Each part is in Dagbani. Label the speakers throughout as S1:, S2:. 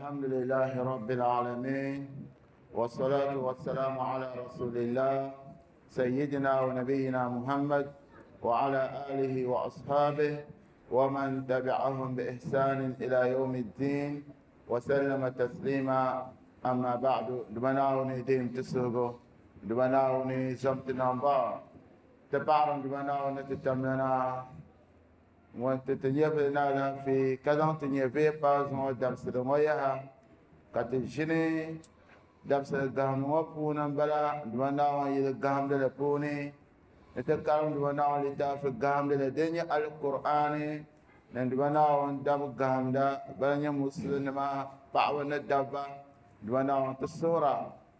S1: الحمد لله رب العالمين، والصلاة والسلام على رسول الله سيدنا ونبينا محمد وعلى آله وأصحابه ومن تبعهم بإحسان إلى يوم الدين وسلم تسليما. أما بعد، دمناوني دين تسوغو دمناوني زمتنا با تبعرن دمناوني تتمنا وانت تنيبنا في كذا تنيبي بازو درس دمويها كتجني درس الدهم وبونا بلا دمناوني يلقهم دلبوني نتكلم دمناوني لتاف القهم لدنيا القرآن ندمناوني دم القهم دا بلا مسلم ما بعونا الدبا دمناوني الصورة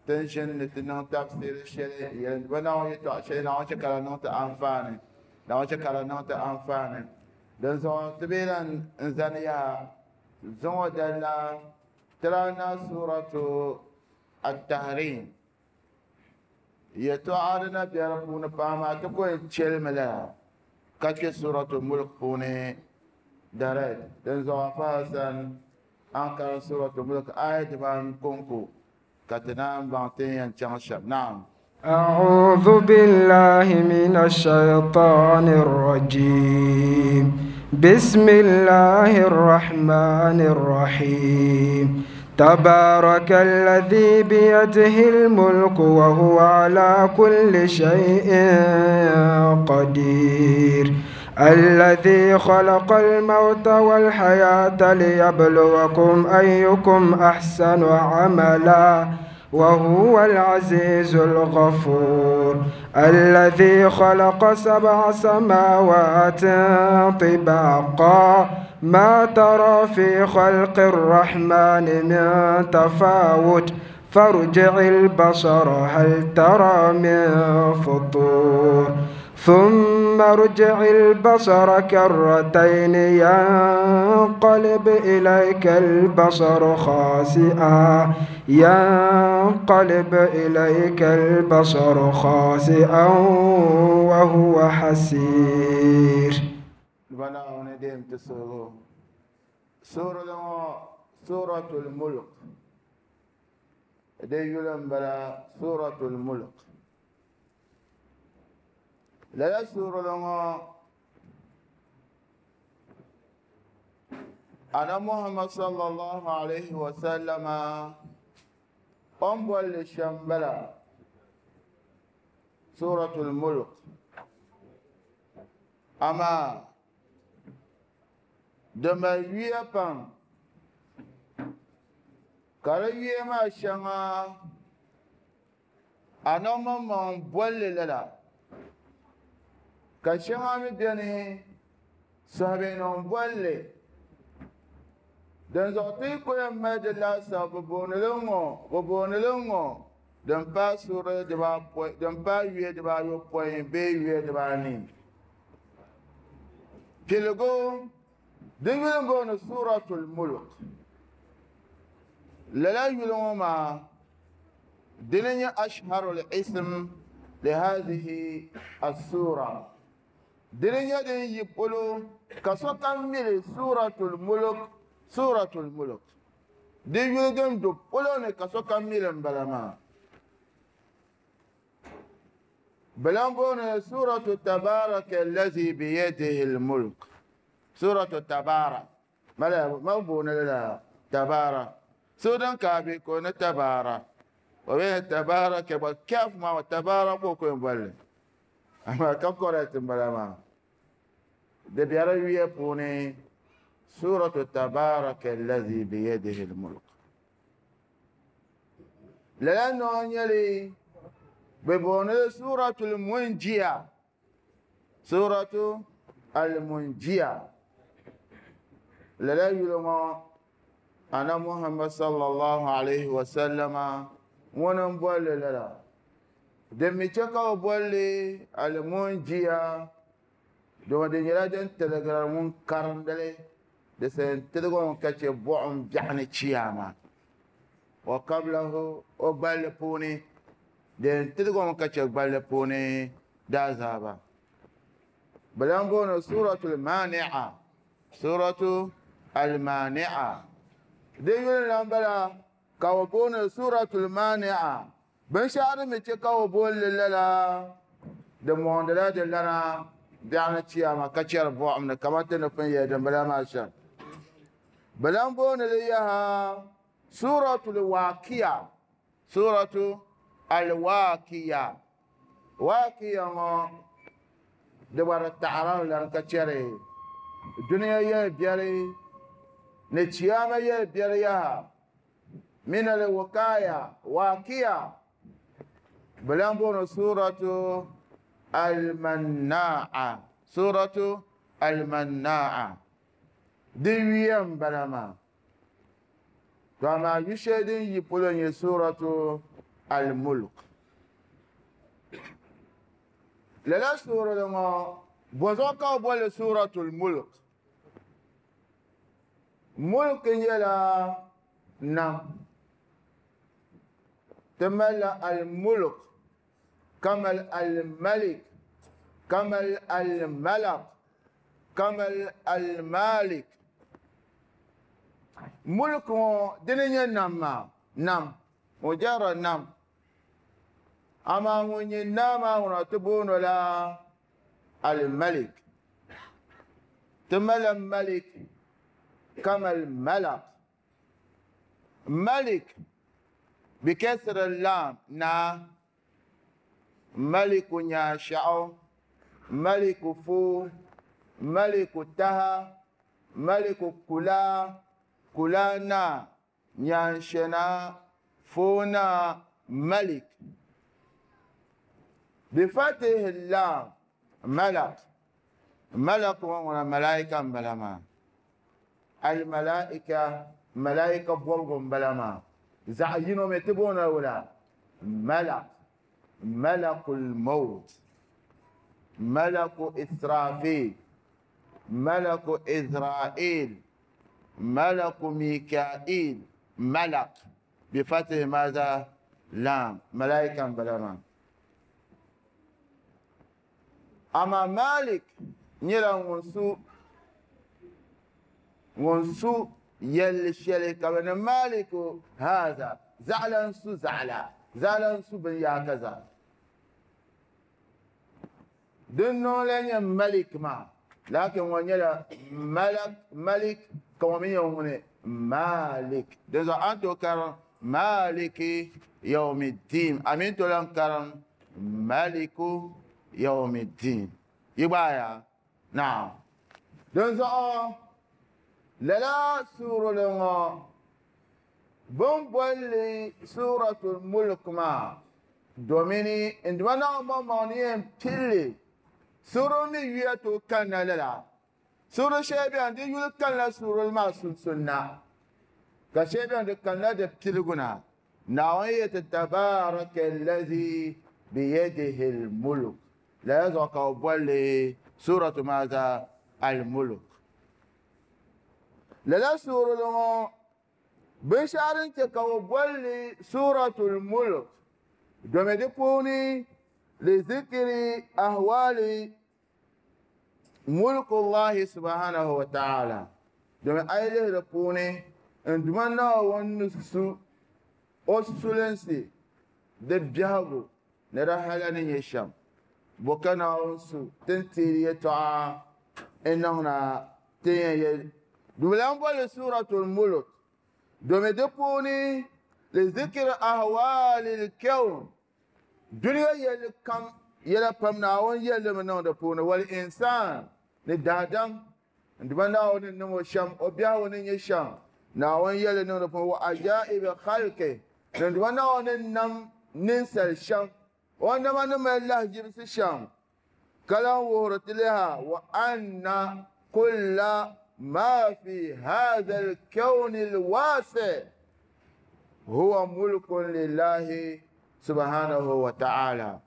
S1: تنشن لتنه تفسير الشيء دمناوني تعشي نعوش كلا نوت أنفاني نعوش كلا نوت أنفاني دنزون تبيلا إنسانية زون دلا ترانا سورة التحريم يتعارنا بيربون باما تكون تشيل كاتك سورة الملك بوني دارت دنزون فاسن أنكر سورة الملك آية بان كونكو كتنام بانتين تشانشب. نعم.
S2: أعوذ بالله من الشيطان الرجيم. بسم الله الرحمن الرحيم. تبارك الذي بيده الملك وهو على كل شيء قدير، الذي خلق الموت والحياة ليبلوكم أيكم أحسن عملا وهو العزيز الغفور، الذي خلق 7 سماوات طباقا ما ترى في خلق الرحمن من تفاوت فارجع البصر هل ترى من فطور، ثم ارجع البصر كرتين ينقلب إليك البصر خاسئا ينقلب إليك البصر خاسئا وهو حسير.
S1: سورة الملك سورة الملك لا سورة لما أنا محمد صلى الله عليه وسلم أمبل الشمبلة سورة الملك. أما دم يبان كريه ما شما أنا ما مبول لا كشما مدني سابين مبول دنزعتي كل ما دلا سببون لهم ببون لهم دم باسورة دبا دم باية دبا يوبين بية دبا نيم تلقو دعونا بون سورة الملك لا يلوم دنيا أشهر الاسم لهذه السورة دنيا دنيا يقولوا كسوكا ميل سورة الملك سورة الملك دنيا دنيا يقولون كسوكا ميل بلما بلان سورة تبارك الذي بيده الملك سورة تبارك ما لا ما بون لا تبارك سودان كابي كون تبارك وبين تبارك وكيف ما تبارك وكون بل أما كم قرأت بلا ما دبيرة يبوني سورة تبارك الذي بيده الملك لأنه يلي ببوني سورة المنجية سورة المنجية لا يلوم أنا محمد صلى الله عليه وسلم ونبول لا دمي تشكا بولي المنجية دو دنيا دن تلغرا من كارندلي دسن تلغون كاتي بوم بيعني تشياما وقبله وبال بوني دن تلغون كاتي بال بوني دازابا بلانبون سورة المانعة سورة المانعة. Di yuli lan bala ka o booni suratul mani'a. Binshɛɣu din mi chɛ ka o booni li lala di mɔŋdila di lana biɛɣuni chiyama ka chɛri buɣim ni kamani ti ni pun yɛli dimbala maa shɛm. Bɛ lan booni li yaha suratul waqiya. Suratu al-waqiya. Waqiya ŋɔ di gba di taɣirimi lan ka chɛri dunia yɛli biɛli ni chiyama yɛli biɛli yaha min al-wikaya waqiya. Bɛ lan booni suratu al-manna'a. Suratu al-manna'a. Di yuya m-bala maa. To amaa yu shɛli din yi polo nyɛ suratu al-mulk. Lala suurili ŋɔ bɔzuɣu ka bɛ boli suratul mulk? Mulk nyɛla nam. Ti malila al-mulk ka mali al-malik ka mali al-malak ka mali al-malik. Mulk ŋɔ dini nyɛ nam maa, nam, mujarrad nam. Amaa ŋun nyɛ naa maa ŋuna ti booni la al-malik. Ti malila malik ka mali malak. Malik bi kasri lam naa. Maliku nyaashɛɣu, maliku fuu, maliku taha, maliku kula, kula naa, nyaanshɛ naa, fuu naa, malik. Bi fatihi lam malak. Malak ŋɔ ŋuna malaika m-bala maa. Al-malaika, malaika bɔbigu m-bala maa. Zaɣ yino mi ti booni wula? Malak. Malakul maut. Malaku Israfil. Malaku Israel. Malaku Mikail. Malak. Bi fatihi maza lam. Malaika m-bala maa. Ama Malik nyɛla ŋun su yɛlli shɛli ka bɛ ni Maliku haza zaɣila n su zaɣila zaɣila n su binyaaka zaa. Din niŋ la nyɛ Malik maa, lakin ŋɔ nyɛla Malak, Malik ka ŋɔ mi nyɛ ŋuni Malik. Din zuɣu a ni tooi karim Maliki yawmiddin, a mi ni tooi lan karim Maliku yawmiddin. Yi gbaaya? Naam. Din zuɣu lala suurili ŋɔ bɛ ni bolli suratul mulk maa domini n dima Naawuni maŋmaŋ ni yɛn pilli suurili mi yuya tooi kanna lala. Suurili shɛli beni di yuli kanila suurili maa sunsuuni na ka shɛli beni di kanila di piligu na. Naawuni yɛti tabaraka allazi biyadihi al-mulk. Lala zuɣu ka bɛ bolli suratu maza al-mulk. Lala suurili ŋɔ binshɛɣu din chɛ ka bɛ bolli suratul mulk domi di puuni li zikri ahwali mulkullahi subhanahu wa ta'ala. Domi a yi lihi di puuni n duma Naawuni ni su o sulinsi di biɛhigu ni di hala ni nyɛ shɛm. Bo ka Naawuni su ti ni teeri yɛltɔɣa n niŋna ti yɛn yɛli. Bɛ lan bolli suratul mulk domi di puuni li zikri ahwali l-kawn. Dunia yɛlli kam yɛla pam Naawuni yɛlli mi niŋ di puuni wal insan ni daadam n duma Naawuni ni niŋ o shɛm o biɛhigu ni nyɛ shɛm Naawuni yɛlli niŋ di puuni wa ajaibi khalqi ni n duma Naawuni ni nam ninsal shɛm o nama ni mali lahajibisi shɛm ka lan wuhiri ti liha wa anna kulla ma fi hadha al-kawn al-wasi huwa mulkun lillahi subhanahu wa ta'ala.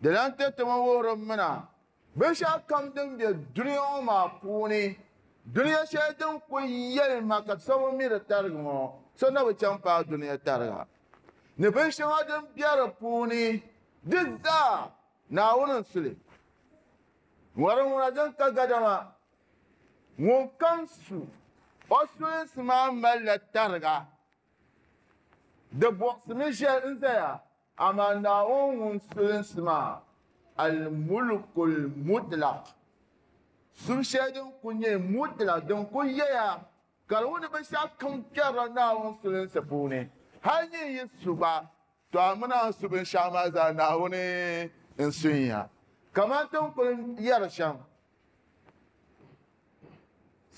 S1: Di lan ti ti wuhiri mina binshɛɣu kam din be dunia ŋɔ maa puuni dunia shɛli din ku yɛlima ka so bi mi di tarigi ŋɔ so na bi chaŋ paai dunia tariga ni binshɛŋa din be di puuni di zaa Naawuni n suli. Ŋɔri ŋuna din ka gadama ŋun kam su O sulinsi maa malila tariga. Di buɣisimi ʒe n-zaya, amaa Naawuni ŋun sulinsi maa, al-mulkul mutlaq, subu shɛli din kul nyɛ mutlaq, din kul yɛya ka di wuhi ni binshɛɣu kam kpɛrila Naawuni sulinsi puuni, hal nyin yi su gba, to a mini a ni su binshɛɣu maa zaa Naawuni n-sun ya. Kaman ti ni kul yɛri shɛm,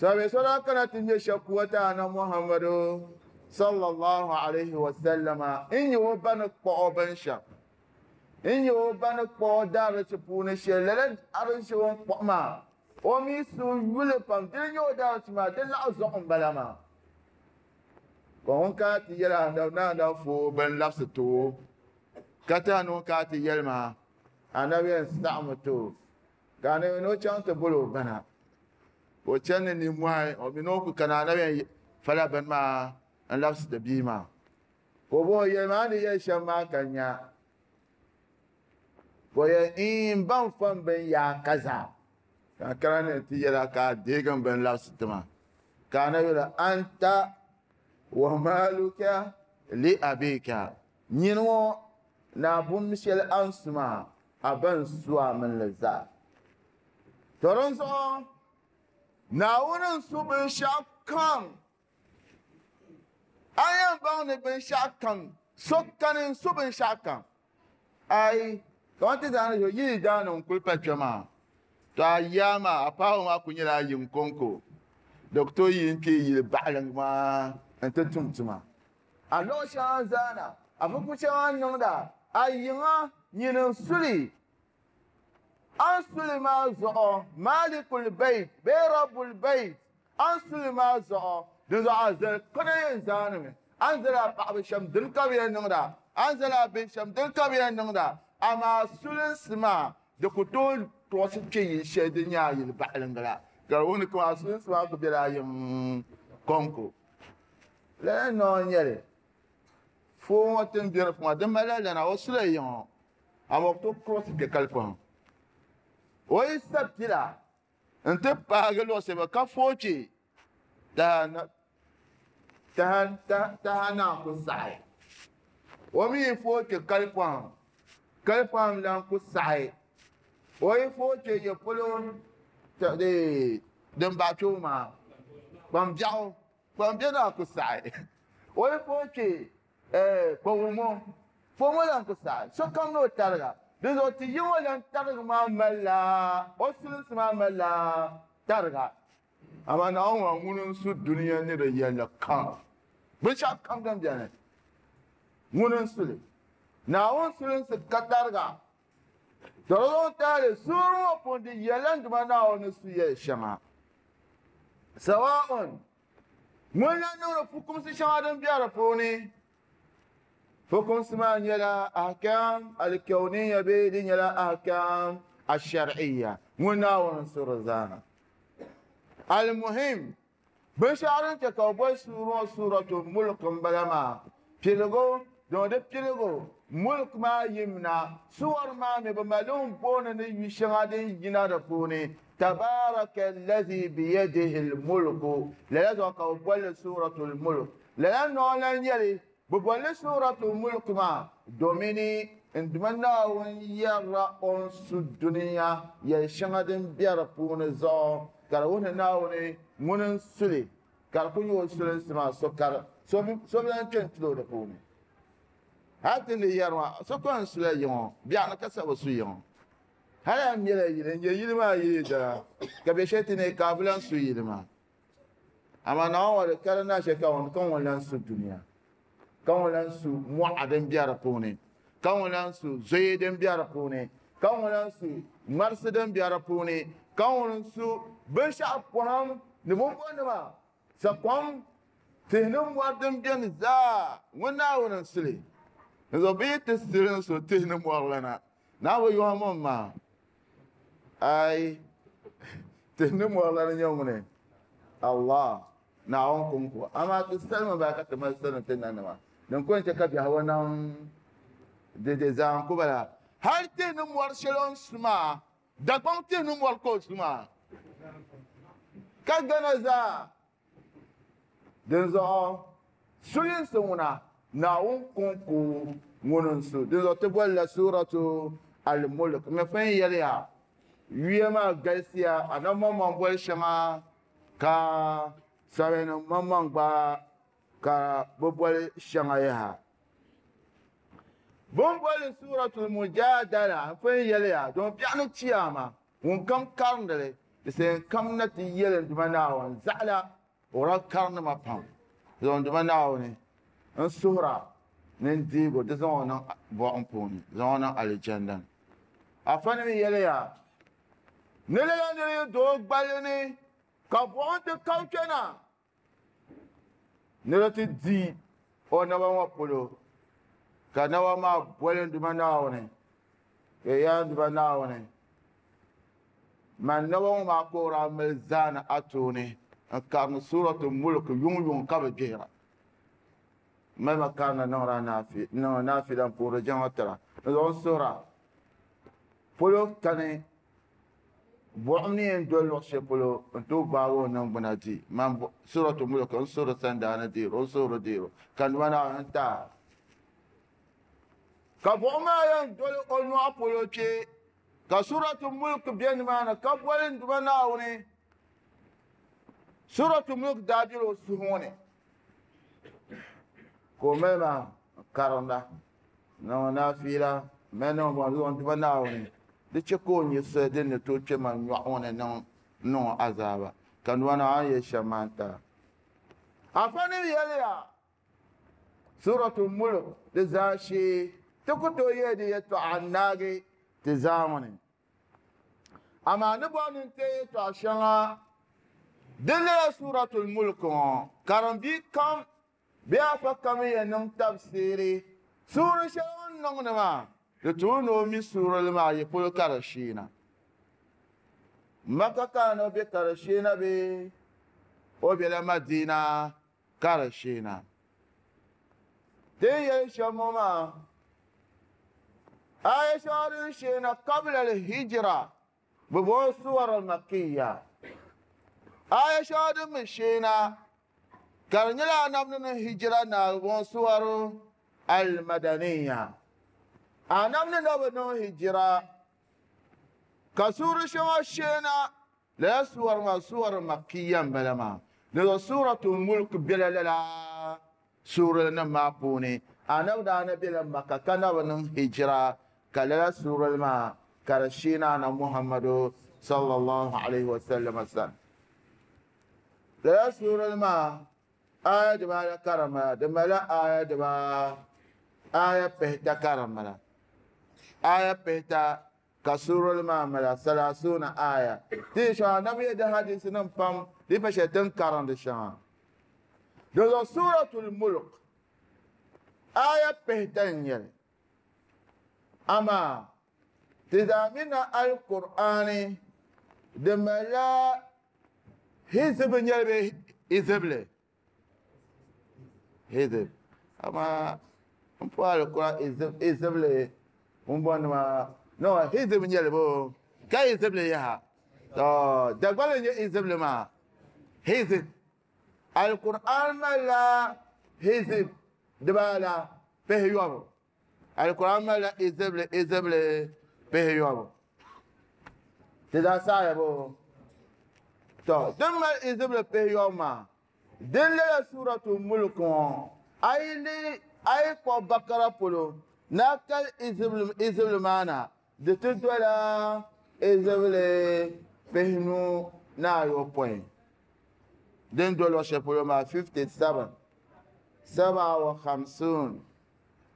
S1: Sahabi so daa kana ti ŋmɛ shɛkuwa ti Anabi Muhammadu sallallahu alaihi wa sallama n-nyɛ o ba ni kpuɣi o binshɛm, n-nyɛ o ba ni kpuɣi o daarichi puuni shɛli. Lala arichi o ni kpuɣi maa, o mi suhu yuli pam, dini nyɛ o daarichi maa, di laɣ zuɣu m-bala maa. Ka ŋun kana ti yɛli Anabi ni Anabi fo o bini labisi ti o, ka ti a ni ŋun kana ti yɛli maa, Anabi yɛn saɣimi ti o. Ka anabi ni o chaŋ ti boli o bana, ka o chani ni nimmɔhi, o mi ni o ku kana anabi yɛn fala bini maa n-labisi ti bia maa. Ka o bɔhi o, Yɛlimi a ni yɛli shɛm maa ka n nya. Ka o yɛli, Iin, m ba n-fa m bini yaa ka zaa, ka n kana ni n ti yɛl a ka a deegi m bini labisi ti ma. Ka anabi yɛl o, Anta wa maaluka li abika, nyini ŋɔ ni a bum shɛli a ni su maa, a ba n-su a mini li zaa. To dinzuɣu Naawuni n-su binshɛɣu kam. A yɛn baŋ ni binshɛɣu kam, so kani n-su binshɛɣu kam. Ai, kamani ti zaa ni ʒe yi daani n-kuli pa kpe maa, to a yaa maa, a paɣibu maa kuli nyɛla a yiŋ kɔŋko. Di ku tooi yi n-kpe yili baɣiliŋ maa nti tum tuma. A luɣ shɛŋa n-zaana, a fuku shɛŋa n-niŋda, a yiŋa nyini n-suli. A ni suli maa zuɣu, Maalikul Bayt bee Rabbul Bayt, a ni suli maa zuɣu, dinzuɣu a zali kpana yɛn zaanimi. A ni zali a paɣiba shɛm, dini ka bɛ yɛn niŋda, a ni zali a bihi shɛm, dini ka bɛ yɛn niŋda. Amaa sulinsi maa, di ku tooi tɔɣisi kpe yil shɛli din nyɛ a yili baɣiliŋga la, ka di wuhi ni kaman a sulinsi maa ku bela a yiŋ kɔŋko. Lala noo n-nyɛ li. Foo ŋɔ ti ni be di puuni maa, di malila lana, o sula yiŋɔ, amaa o ku tooi kurɔsi kpe kali pɔhim. O yi sa pila nti paagi luɣ shɛli ka fooi kpe, taha naan ku saɣi. O mi yi fooi kpe kali pɔhim, kali pɔhim lan ku saɣi. O yi fooi kpe ya polo din baɣi kpe o maa, kpam biɛɣu. Kpam bɛ naa ku saɣi. O yi fooi kpe kpawumo, kpawumo lan ku saɣi. Sokam ni o tariga. Dinzuɣu ti yi ŋɔ lan tarigi maa malila, o sulinsi maa malila tariga. Amaa Naawuni ŋɔ ŋuni n-su dunia ni di yɛlli kam. Binshɛɣu kam din beni, ŋuni n-su li. Naawuni sulinsi ka tariga. To di zaŋ taali suuri ŋɔ puuni di yɛlila n Duuma Naawuni ni su yɛli shɛŋa. Sawa'un ŋun lan niŋdi fukumsi shɛŋa din be di puuni. Fukumsi maa nyɛla ahkam al-kawniya bee di nyɛla ahkam al-shar'iyya. Ŋun Naawuni n-su di zaa. Al-muhim, Binshɛɣu din chɛ ka bɛ boli suuri ŋɔ Suuratul Mulk m-bala maa, piligu, din di piligu, Mulk maa yimina, suwar maa mi bɛ mali li m-booni ni yu shɛŋa din yina di puuni, Tabaaraka allazi biyadihil mulku, lala zuɣu ka bɛ boli li Suuratul Mulk. Lala noo lan nyɛ li, bɛ boli li Suuratul Mulk maa domini n Duuma Naawuni yɛrila o ni su dunia yɛl shɛŋa din be di puuni zuɣu. Ka di wuhi ni Naawuni ŋuni n-su li, ka di ku nyɛ o sulinsi maa so ka so bi lan kpe n-tili o di puuni. Hal ti ni yɛri maa, so ka n-sula yi ŋɔ, biɛɣuni ka sa bi su yi ŋɔ. Hal a mɛla yili n-nyɛ yili maa yee dana, ka bɛ shɛli ti ni ka a bi lan su yili maa. Amaa Naawuni ŋɔ di ka di na shɛli ka ŋun lan su dunia, ka ŋun lan su mɔɣa din be di puuni, ka ŋun lan su zoya din be di puuni, ka ŋun lan su ŋmarisi din be di puuni, ka ŋun su binshɛɣu pɔhim ni bumbɔnima, sakom, tihi ni mɔri din beni zaa, ŋun Naawuni n-su li. Dinzuɣu bɛ yi ti sili n-su tihi ni mɔri la na, Naawuni yɔhi mɔŋ maa, Ai, tihi ni mɔri la ni nyɛ ŋuni? Allah, Naawuni kɔŋko. Amaa ti salima baa ka ti mali sani ti nanima, din ko n-chɛ ka biɛhigu niŋ dɛdɛ zaa n-ku bala. Hal tihi ni mɔri shɛli o ni su maa, Dagbaŋ tihi ni mɔri ka o su maa, ka Ghana zaa. Dinzuɣu sulinsi ŋuna Naawuni kɔŋko ŋuni n-su. Dinzuɣu ti bolila Suuratu Al-Mulk. M mi pun yɛliya yuya maa galisiya, Anabi maŋmaŋ boli shɛŋa ka sabihinim maŋmaŋ gba ka bɛ boli shɛŋa yaha. Bɛ ni boli Suuratul Mujadala, m pun yɛliya domi biɛɣu ni chiyaama ŋunkam karindi li, di sayin kam na ti yɛli n Duuma Naawuni zaɣila o daa karindi ma pam. Zaŋ n Duuma Naawuni n suhira ni n deeg o, di zaŋ o niŋ buɣim puuni, zaŋ o niŋ alijanna ni. Afa nim yɛliya ni lala nira yi doo gballi ni ka buɣim ti kabi kpɛna ni di ti di o naba ŋɔ polo, ka naba maa boli n Duuma Naawuni, ka yaa n Duuma Naawuni, man naba ŋɔ maa ka o daa mali zaani a tooni n karindi Suuratul Mulk yuŋ yuŋ ka bi gbihira. Mali ma karindi niŋdi a naafila n puhiri jiŋli tira n zaŋ suhira polo kani buɣim ni yɛn doli luɣ shɛli polo n tooi gbaagi o niŋgbuna di. Man Suuratul Mulk n suhiri sandaani deero, n suhiri deero ka n Duuma Naawuni n taai. Ka buɣim maa yɛn doli o nyɔɣu polo kpe ka Suuratul Mulk be nimaani ka boli n Duuma Naawuni. Suuratul Mulk daa bela o suhu ŋɔ ni ka o mali maa karinda niŋ naafila mali niŋ bɔŋ zaŋ Duuma Naawuni di chɛ ka o nyɛ soli din ni tooi kpe ma nyɔɣu ŋɔ ni niŋ o azaaba ka n Duuma Naawuni yɛli shɛm maa n-tara. Afa nim yɛliya Suuratul Mulk di zaashee ti ku tooi yɛli di yɛtɔɣa n-naagi ti zaa ŋɔ ni. Amaa ni bɔri ni n-teei yɛtɔɣa shɛŋa din lala Suuratul Mulk ŋɔ, karimbi kam bee afa kam yɛn niŋ tabisiiri suuri shɛli o ni niŋdi maa, di tuui ni o mi suurili maa yi polo ka di sheena. Maka ka ni o be ka di sheena bee o bela Madina ka di sheena. Ti ni yɛli shɛm ŋɔ maa, aya shɛŋa din sheena qabla al-hijra, bɛ booni suwar al-makkiya. Aya shɛŋa din mi sheena ka di nyɛla anabi ni niŋ hijira na, bɛ booni suwar al-madaniya. Anabi ni na bi niŋ hijira ka suuri shɛŋa sheena lala suwar maa suwar makkiya n-bala maa. Di zuɣu Suuratul Mulk bela lala suurili nim maa puuni. Anabi daa na bela Makka ka na bi niŋ hijira ka lala suurili maa ka di sheena Anabi Muhammadu sallallahu alaihi wasallam sani. Lala suurili maa aya dibaala ka di mala, di malila aya dibaa aya pihita ka di mala. Aya pihita ka suurili maa mala salasuna aya. Ti yi shɛŋa Anabi yɛ di hadisi nim pam di pa shɛli tin karindi shɛŋa. Di zuɣu Suuratul Mulk aya pihita n-nyɛli. Amaa ti zaa mi na Al-Qur'ani di malila hizib n-nyɛli bee hizibli? Hizib. Amaa n puhi Al-Qur'an hizibli n bɔndi maa no hizib n-nyɛli boo ka hizibli yaha. To Dagbali n-nyɛ hizibli maa. Hizib. Al-Qur'an malila hizib dibaala pihiyɔbu. Al-Qur'an malila hizibli hizibli pihiyɔbu. Ti zaa saɣaya boo? To din mali hizibli pihiyɔbu maa din lala Suuratul Mulk ŋɔ a yi lihi a yi kpuɣi Bakara polo ni a kali hizibli maa na di ti dola hizibli pihinu ni ayopɔin. Din do luɣ shɛli polo maa 57 saba wa khamsun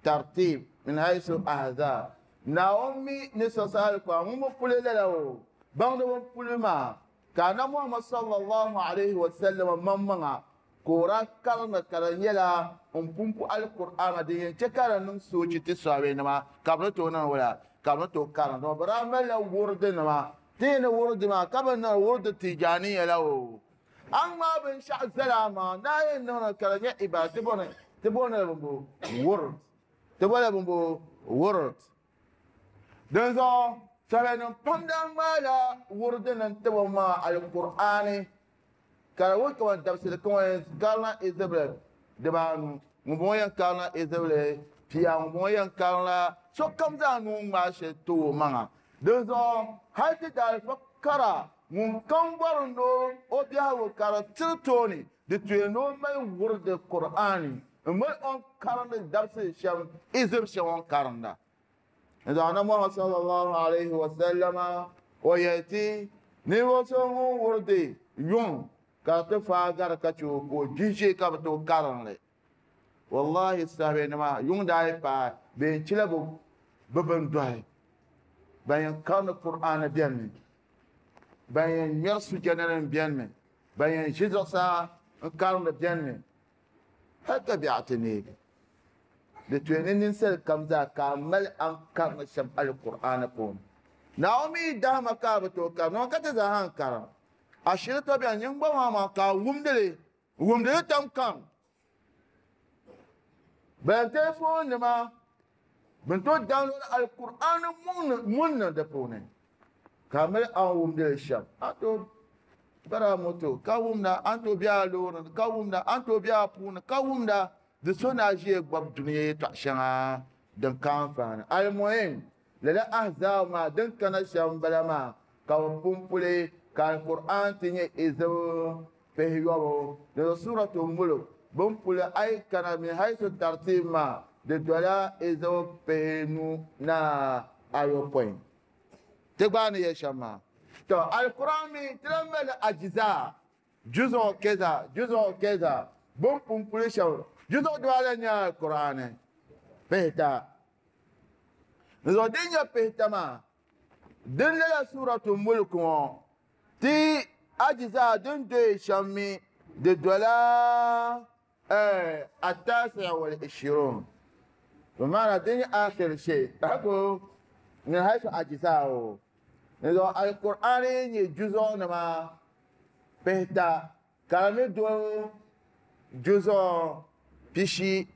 S1: tartib min haythu ahzab. Naawuni mi ni sɔsi Alkur'an ŋun bi puli lala o baŋdi bin puli maa ka Anabi Muhammad sallallahu alayhi wa sallam maŋmaŋa ka o daa karindi ka di nyɛla n pumpu Alkur'aana din yɛn chɛ ka di niŋ soochi ti sɔhabenima ka bɛ ni tooi niŋ wula ka bɛ ni tooi karindi. Dama bɛ daa malila wurdinima ti yi ni wurdi maa ka bɛ niŋ wurdi Tijaaniya la o. A ni ŋmaai binshɛɣu zali a maŋa ni a yɛn niŋdi ka di nyɛ ibaada ti bɔni ti bɔni la bimbo wurd ti bɔla bimbo wurd. Dinzuɣu sɔhabenim pam daa ŋmaala wurdini n-ti bɛ maŋa Alkur'aani. Ka di wuhi kaman dabisili ka ŋun yɛn karila izibili dibaanu, ŋumbɔŋɔ yɛn karila izibili pia, ŋumbɔŋɔ yɛn karila sokam zaa nuu ŋmaai shɛli ti o maŋa. Dinzuɣu hal ti daalifa kara ŋunkam bɔri ni o biɛhigu ka di tiri tooni, di tuya ni o mali wuridi Kur'aani m-mali o ni karindi dabisili shɛm izib shɛm o ni karinda. Dinzuɣu Annabi Muhammad sallallahu alayhi wa sallama o yɛli ti, ninvuɣ so ŋun wuridi yuŋ ka di ti faai gari ka chɛ o ka o gbihi ʒee ka bi tooi karim li. Wallahi sahabenima yuŋ daa yi paai bɛ yɛn chila bɛ bindɔhi. Ban yɛn karindi Kur'aani benimi, ban yɛn ŋmɛri sujɛdanim benimi, ban yɛn ʒi zuɣusaa n-karindi benimi, hal ka biɛɣu ti neegi. Di tuya ni ninsal kam zaa ka a mali a ni karindi shɛm Alkur'aani puuni. Naawuni mi yi dahima ka a bi tooi karim, dama ka ti zaa ha n-karim. A shiri tɔ bɛni nyin gba maa maa ka a wumdi li, wumdi li tam kam. Ban telefoon nima bɛ ni tooi download Alkur'aani mun niŋ di puuni ka a mali a ni wumdi li shɛm. A tooi bari a moto ka wumda, a ni tooi be a loori ni ka wumda, a ni tooi be a puuni ka wumda. Di so ni a ʒiya gbabi dunia yɛtɔɣ shɛŋa din ka anfaani. Almuhim, lala ahzaab maa din kana shɛm m-bala maa, ka bɛ pumpuli ka Alkur'aan ti nyɛ izib pihiyɔbu. Di zuɣu Suuratu Mulk bɛ ni puli a yi kana min haythu tartiib maa, di dola izib pihinu na ayopɔin. Ti gbaai ni yɛli shɛm maa. Tɔ! Alkur'aan mi ti lahi mali ajizaa, juzuɣu kɛza, juzuɣu kɛza, bɛ ni pumpuli shɛm, juzuɣu dibaala n-nyɛ Alkur'aani pihita. Di zuɣu din nyɛ pihita maa, din lala Suuratu Mulk ŋɔ, ti ajizaa din doya shɛm mi di dola التاسع والعشرون بمعنى دين آخر شيء تحكو من حيث أجزاءه إذا القرآن جزء نما بهتا كلامي دون جزء بشي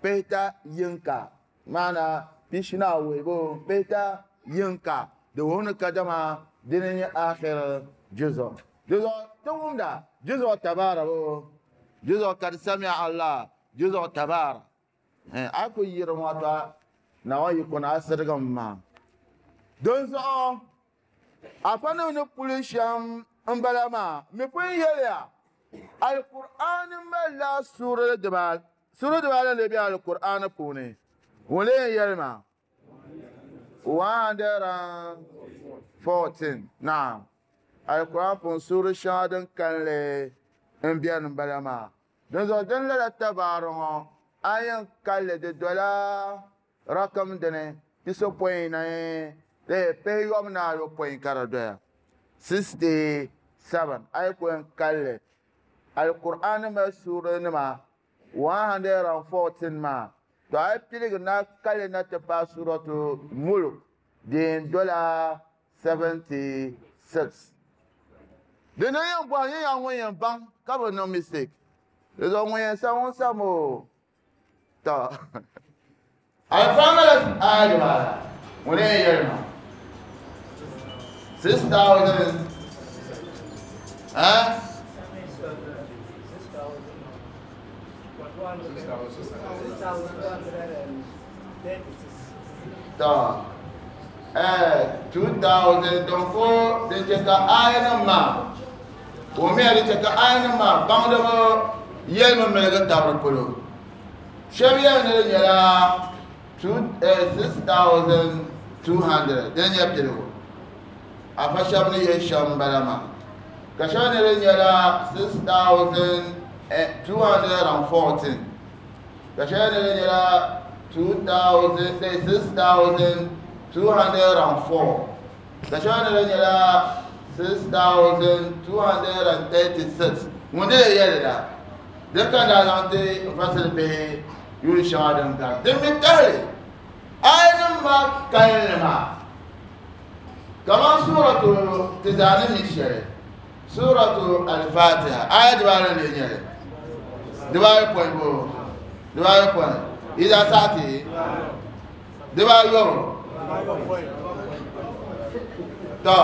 S1: بهتا ينكا معنى بشي ناوي بو بهتا ينكا دون كدما دين آخر جزء جزء توم دا جزء تبارك جزء قد سمع الله جزء تبارك aku yiri ŋɔ na o yi kuna asirigim maa. Dinzuɣu afa nim ni puli shɛm m-bala maa mi pun yɛliya Alkur'aani malila suurili dibaa suuri dibaala ni be Alkur'aani puuni. Ŋun lee yɛli maa 114. Naam, Alkur'aan puuni suuri shɛŋa din kanli n beni m-bala maa. Dinzuɣu din lala tabaari ŋɔ a yɛn kalli di dola rakam dini pisopɔin na pihiyɔbu ni ayopɔin ka di doya 67. A yi ku yɛn kalli Alkur'aan mali suuri nima 114 maa, to a yi piligi na kalli na ti paai Suuratu Mulk din dola 76. Di ni yɛn bɔhi nyɛ yaa ŋun yɛn baŋ ka bi niŋ mistake. Di zuɣu ŋun yɛn sa ŋun sam o. To Alkur'aan mali aya dibaala ŋun yɛn yɛli maa 6000 eh? To 2000 don ko din chɛ ka aya nim maa o mi di chɛ ka aya nim maa baŋdiba yɛlimi miligi tabiri polo. Shɛba yɛli ni di nyɛla 6200 din nyɛ piligu afa shɛba ni yɛli shɛm m-bala maa, ka shɛba ni di nyɛla 6214, ka shɛba ni di nyɛla 6204, ka shɛba ni di nyɛla 6236. Ŋun di yɛli la din ka daa zaŋ ti n fasili bihi yuun shɛŋa din gari din mi tahili ayanim maa kalinli maa kaman suuratu ti zaa ni mi shɛli Suuratu Al-Fatiha aya dibaanu n-lee nyɛ li dibaayopɔin bo dibaayopɔin yi zaa saɣi ti dibaayɔbu. To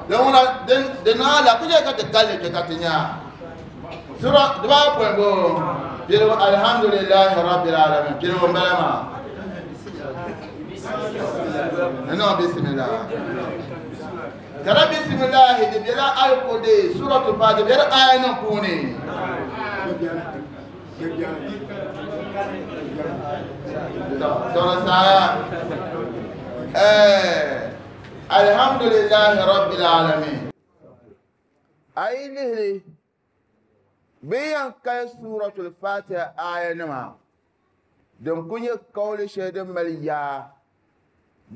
S1: din ŋuna din niŋ ala ku chɛ ka ti kalli kpɛ ka ti nya. Sura diba pɔi bo piligu alhamdulillahi rabbil alamin piligu n bala maa ni bismillah tara bismillah di bela alkudi suratul fatiha bela aya nim puuni tɔrɔ saaya alhamdulillahi rabbil alamin ayi lihili bɛ yɛn kali suratul fatiha aya nima din ku nyɛ kawli shɛli din mali yaa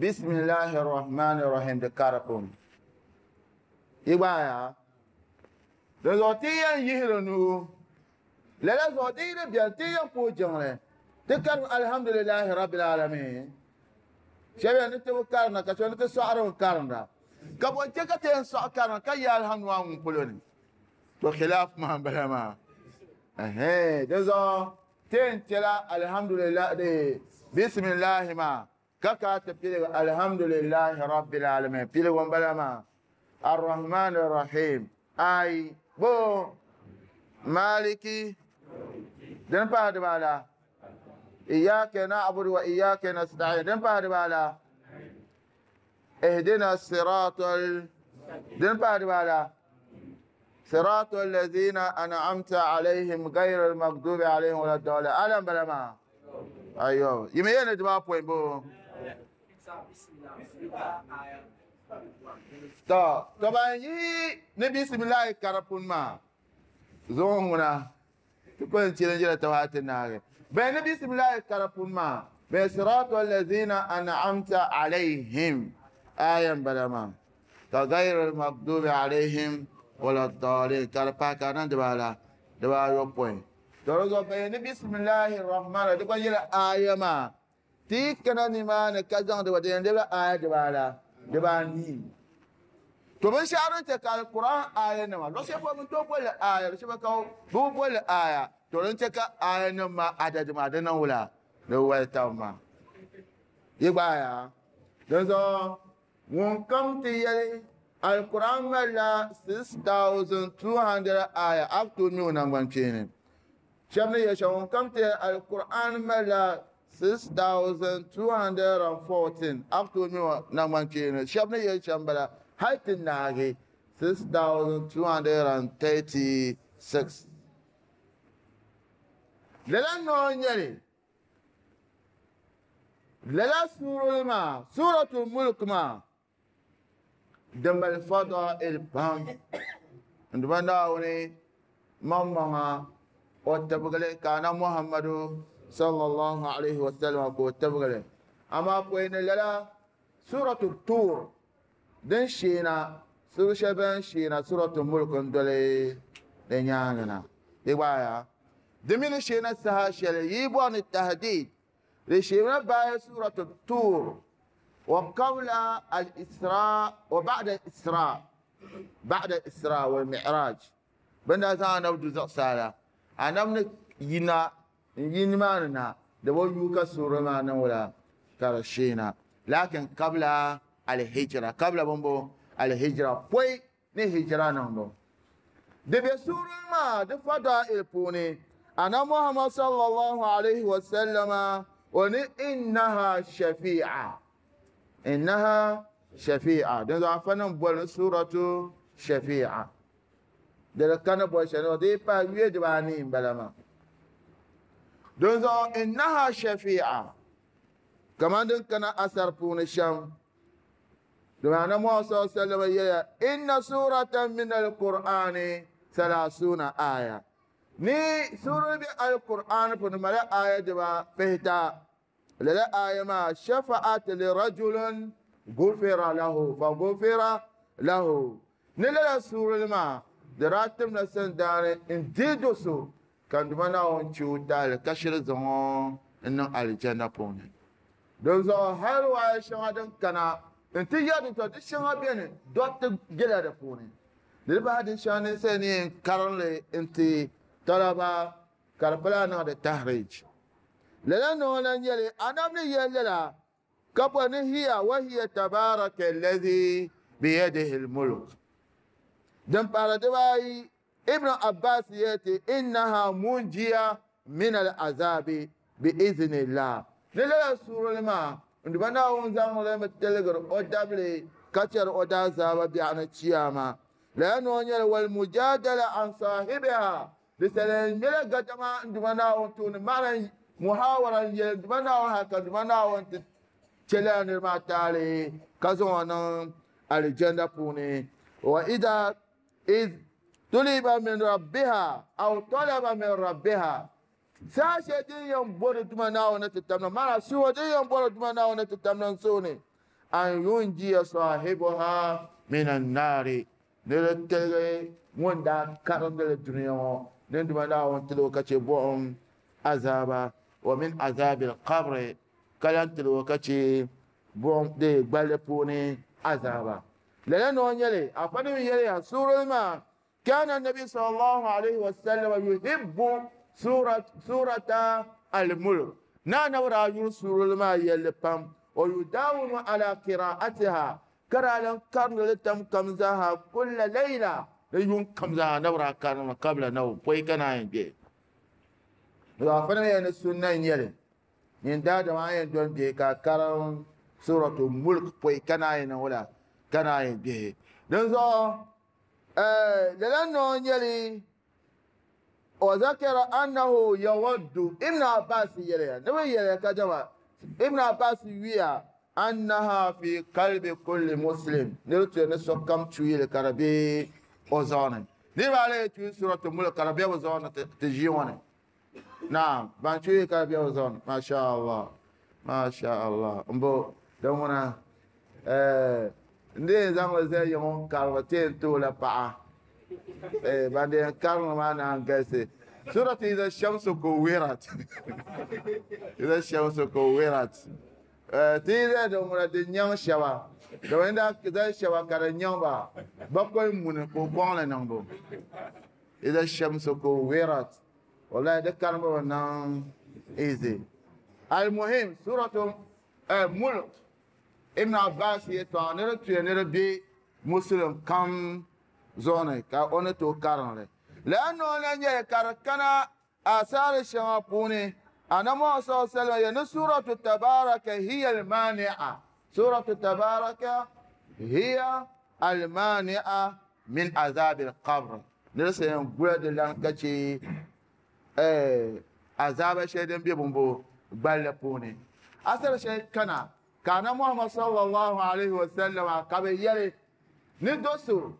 S1: bismillahi rahmani rahim di kari puuni yi gbaaya di zuɣu ti yɛn yihiri nuu lala zuɣu di yi di biɛni ti yɛn puhi jiŋli ti karim alhamdulillahi rabbil alamin shɛba yɛn ni ti bi karinda ka shɛba ni ti sɔɣiri bi karinda ka bɔ n-chɛ ka ti yɛn sɔɣi karinda ka yɛ alhamdu maa ŋun polo ni to khilaf maa n-bala maa di zuɣu ti yɛn chɛla alhamdulillah di bisimilahi maa ka ka ti piligi alhamdulillahi rabbil alamin piligu n-bala maa arrahman arrahim ayi bo maliki din pahi dibaala iyyaka na'budu wa iyyaka nasta'in din pahi dibaala ihdina siratal din pahi dibaala صراط الذين أنعمت عليهم غير المغضوب عليهم ولا الضالين ألم بلا ما أيوه يمين دبا بوين بو to to ban yi ni bismillah karapun ma zo huna to ko en jira tawati naage be ni bismillah karapun ma be صراط الذين أنعمت عليهم آية بلا ما غير المغضوب عليهم ولا الضالين كاربا كان دبالا دبا يوبوين ترى بين بسم الله الرحمن الرحيم دبا يلا آية ما تي كان نيمان كازان دبا دين دبا آية دبالا دبا ني to ban sharan ta kal Qur'an aya na ma lo se fo mun to bol aya lo se ba ka bu bol aya to ran ta ka aya na ma adad ma da nan wula da wal ta ma yi ba ya dan so won kam ti yele Al-Quran mala 6,200 aya up to new nangban chini. Shabni yasha kam te Al-Quran mala 6,214 up to new nangban chini. Shabni yasha mbala haitin nagi 6,236. Lala no nyeri. Lala surul ma, suratul mulk ma. Dambal fada'il pam nduma naawuni maŋmaŋa o tabigili ka ana Muhammadu sallallahu alaihi wasallam ka o tabigili amaa pɔi ni lala suratu Tur din sheena suru shɛli bin sheena suratu Mulk n doli di nyaanga na di gbaaya di mini sheena saha shɛli yi bɔri ni tahdid di sheena baaya suratu Tur وقبل الإسراء وبعد الإسراء بعد الإسراء والمعراج بنا زانا نبدو زقسالة أنا من ينا ينماننا دبو يوكا سورة ما ولا كرشينا لكن قبل الهجرة قبل بمبو الهجرة بوي نهجرة نمبو دبي سورة ما دفدا البوني أنا محمد صلى الله عليه وسلم وني إنها شفيعة إنها شفيعة دون عفنا بول سورة شفيعة ده كان بول شنو دي با يدواني بلما دون إنها شفيعة كمان دون كان أثر بون الشام دون أنا محمد صلى الله عليه وسلم إن سورة من القرآن 30 آية ني سورة القرآن بون ملا آية دبا بهتا لا آية ما شفعت لرجل غفر له فغفر له نلا سورة ما دراتم نسن دار انديدوسو كان دمنا ونشو دال كشر زون إنه الجنة بوني دوزو هل وايش هذا كنا انت يا دكتور دشنا بيني دوت جلا بوني لبعد شان سنين كارل انت طلبة كربلاء هذا تهريج لأنه لن يلي أنا من يلي كبن هي وهي تبارك الذي بيده الملك دم بارد باي Ibn Abbas yati innaha munjiya min al-azabi bi iznillah. Ni lala suurili maa n-duba Naawuni zaŋ li mi tiligiri o dabili ka chɛri o daazaaba biɛɣuni chiyaama. Lala noo nyɛli wal mujadala an sahibiha. Di sali nyɛla gadama n-duba Naawuni tooni maana muhawara n-yɛli n-duba Naawuni hali ka n-duba Naawuni ti chɛ lala niri maa taali ka zaŋ o niŋ alijanda puuni. Wa idha iz tuliba min rabbiha aw talaba min rabbiha. Saha shɛli din yɛn bɔri Duuma Naawuni ni ti tamna, maana suwa din yɛn bɔri Duuma Naawuni ni ti tamna n-suuni an yunjiya sahibuha min annaari, ni di tiligi ŋun daa karindi li dunia ŋɔ ni Duuma Naawuni tiligi o ka chɛ buɣim azaaba, wa min azabi alqabri, ka lan tiligi o ka chɛ buɣim di gballi puuni azaaba. Lala noo nyɛli, afa nim yɛliya suurili maa kana nabi sallallahu alaihi wasallam yuhibbu surata al-mulk. Na anabi daa yuri suurili maa yɛlli pam, wa yudawimu ala qira'atiha, ka daa lan karindi li tam kam zaaha kulla layla, di yuŋ kam zaaha anabi daa karindimi kabla nawm, pɔi ka naan yi gbe. Afa nim yɛli ni sunna n-nyɛli nyin daadama a yɛn doli bihi ka karim suratu mulk pɔi ka naan yi niŋ wula ka naan yi gbihi. Dinzuɣu lala noo nyɛli wa zakara annahu yawaddu. Ibn Abbas yɛliya ni bi yɛliya ka dama Ibn Abbas yuya annaha fi qalbi kulli muslim, ni di tuya ni sokam chuyili ka di be o zuɣu ni. Niriba ayi chuyi suratu mulk ka di be bi zuɣu ni ti ʒii ŋɔ ni. Naam, ban chuyi ka di be bi zuɣu ni. Masha Allah, Masha Allah. Mbo din ŋuna n dee zaŋ li zali yiŋ karimi ti yɛn tooi la paɣa. Ban dee karimi maa naan galisi. Suratu Iza Shamsu Kuwirat. Iza Shamsu Kuwirat. Ti yi zali din ŋuna di nyaŋ shɛba. Domin daa zali shɛba ka di nyaŋ ba bakɔi muni ka o kɔŋ li niŋbu. Iza Shamsu Kuwirat. Wallahi di karimbu bi niŋ easy. Al-Muhim, Suratu Mulk. Ibn Abbas yɛtɔɣa ni di tuya ni di be Muslim kam zuɣu ni ka o ni tooi karim li. Lala noo na nyɛli ka di kana asaari shɛŋa puuni. Annabi Muhammad sallallahu alaihi wasallam yɛli ni suratu Tabaraka hiya al-mani'a. Suratu Tabaraka hiya al-mani'a min azabi al-qabr. Ni di yɛn gula di lan ka chɛ azaaba shɛli din be bumbo gballi puuni. Asari shɛli kana ka Annabi Muhammad sallallahu alaihi wasallam ka bɛ yɛli ni do so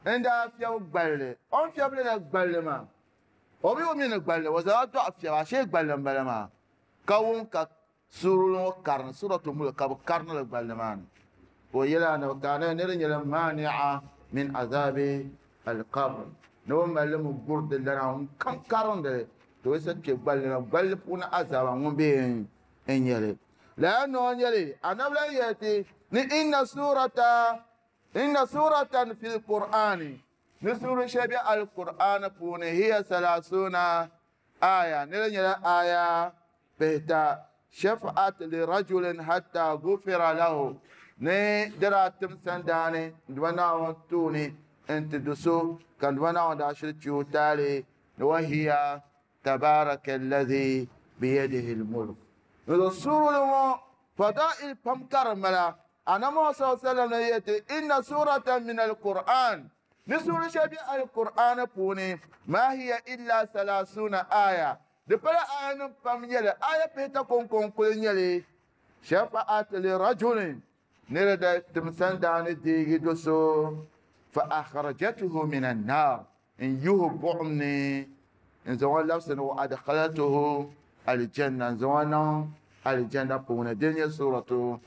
S1: n daa fiɛbi gballi, o ni fiɛbili la gballi maa o bi o mi ni gballi o zaŋla dɔɣu fiɛbi ashee gballi n bala maa ka wum ka suurili ŋɔ karini suratu mulk ka bi karini li gballi maa ni. Ka o yɛli anabi ka anabi ni di nyɛla mani'a min azabi alqabr, ni bi mali li mi guri di lana ŋun kam karindi li to o sa kpe gballi na gballi puuni azaaba ŋun be n nyɛli. Lala noo nyɛli anabi lan yɛli ti ni inna suratan fil qur'ani, ni suuri shɛli be al-Qur'ani puuni hiya salasuna aya, ni di nyɛla aya pihita, shafa'at li rajulin hatta gufira lahu, ni di daa tim sandaani n-duba Naawuni tooni n-ti do so ka n-duba Naawuni daa shiri che o taali, ni wa hiya tabaraka alladhi biyadihi al-mulk. Ni di suurili ŋɔ fadail pam ka di mala. Annabi Muhammad sallallahu alaihi wasallam yɛli ti inna suratan min al-Qur'an, ni suuri shɛli be al-Qur'an puuni ma hiya illa salasuna aya, di pala aya nim pam nyɛli, aya pihita kɔŋko n-kuli nyɛli. Shafa'at li rajulin, ni di da tim sandaani deegi do so, fa akhrajatuhu min an-nar, n yihi buɣim ni n zaŋ o labisi ni wa adkhalatuhu aljanna, n zaŋ o niŋ aljanna puuni. Din nyɛ suratu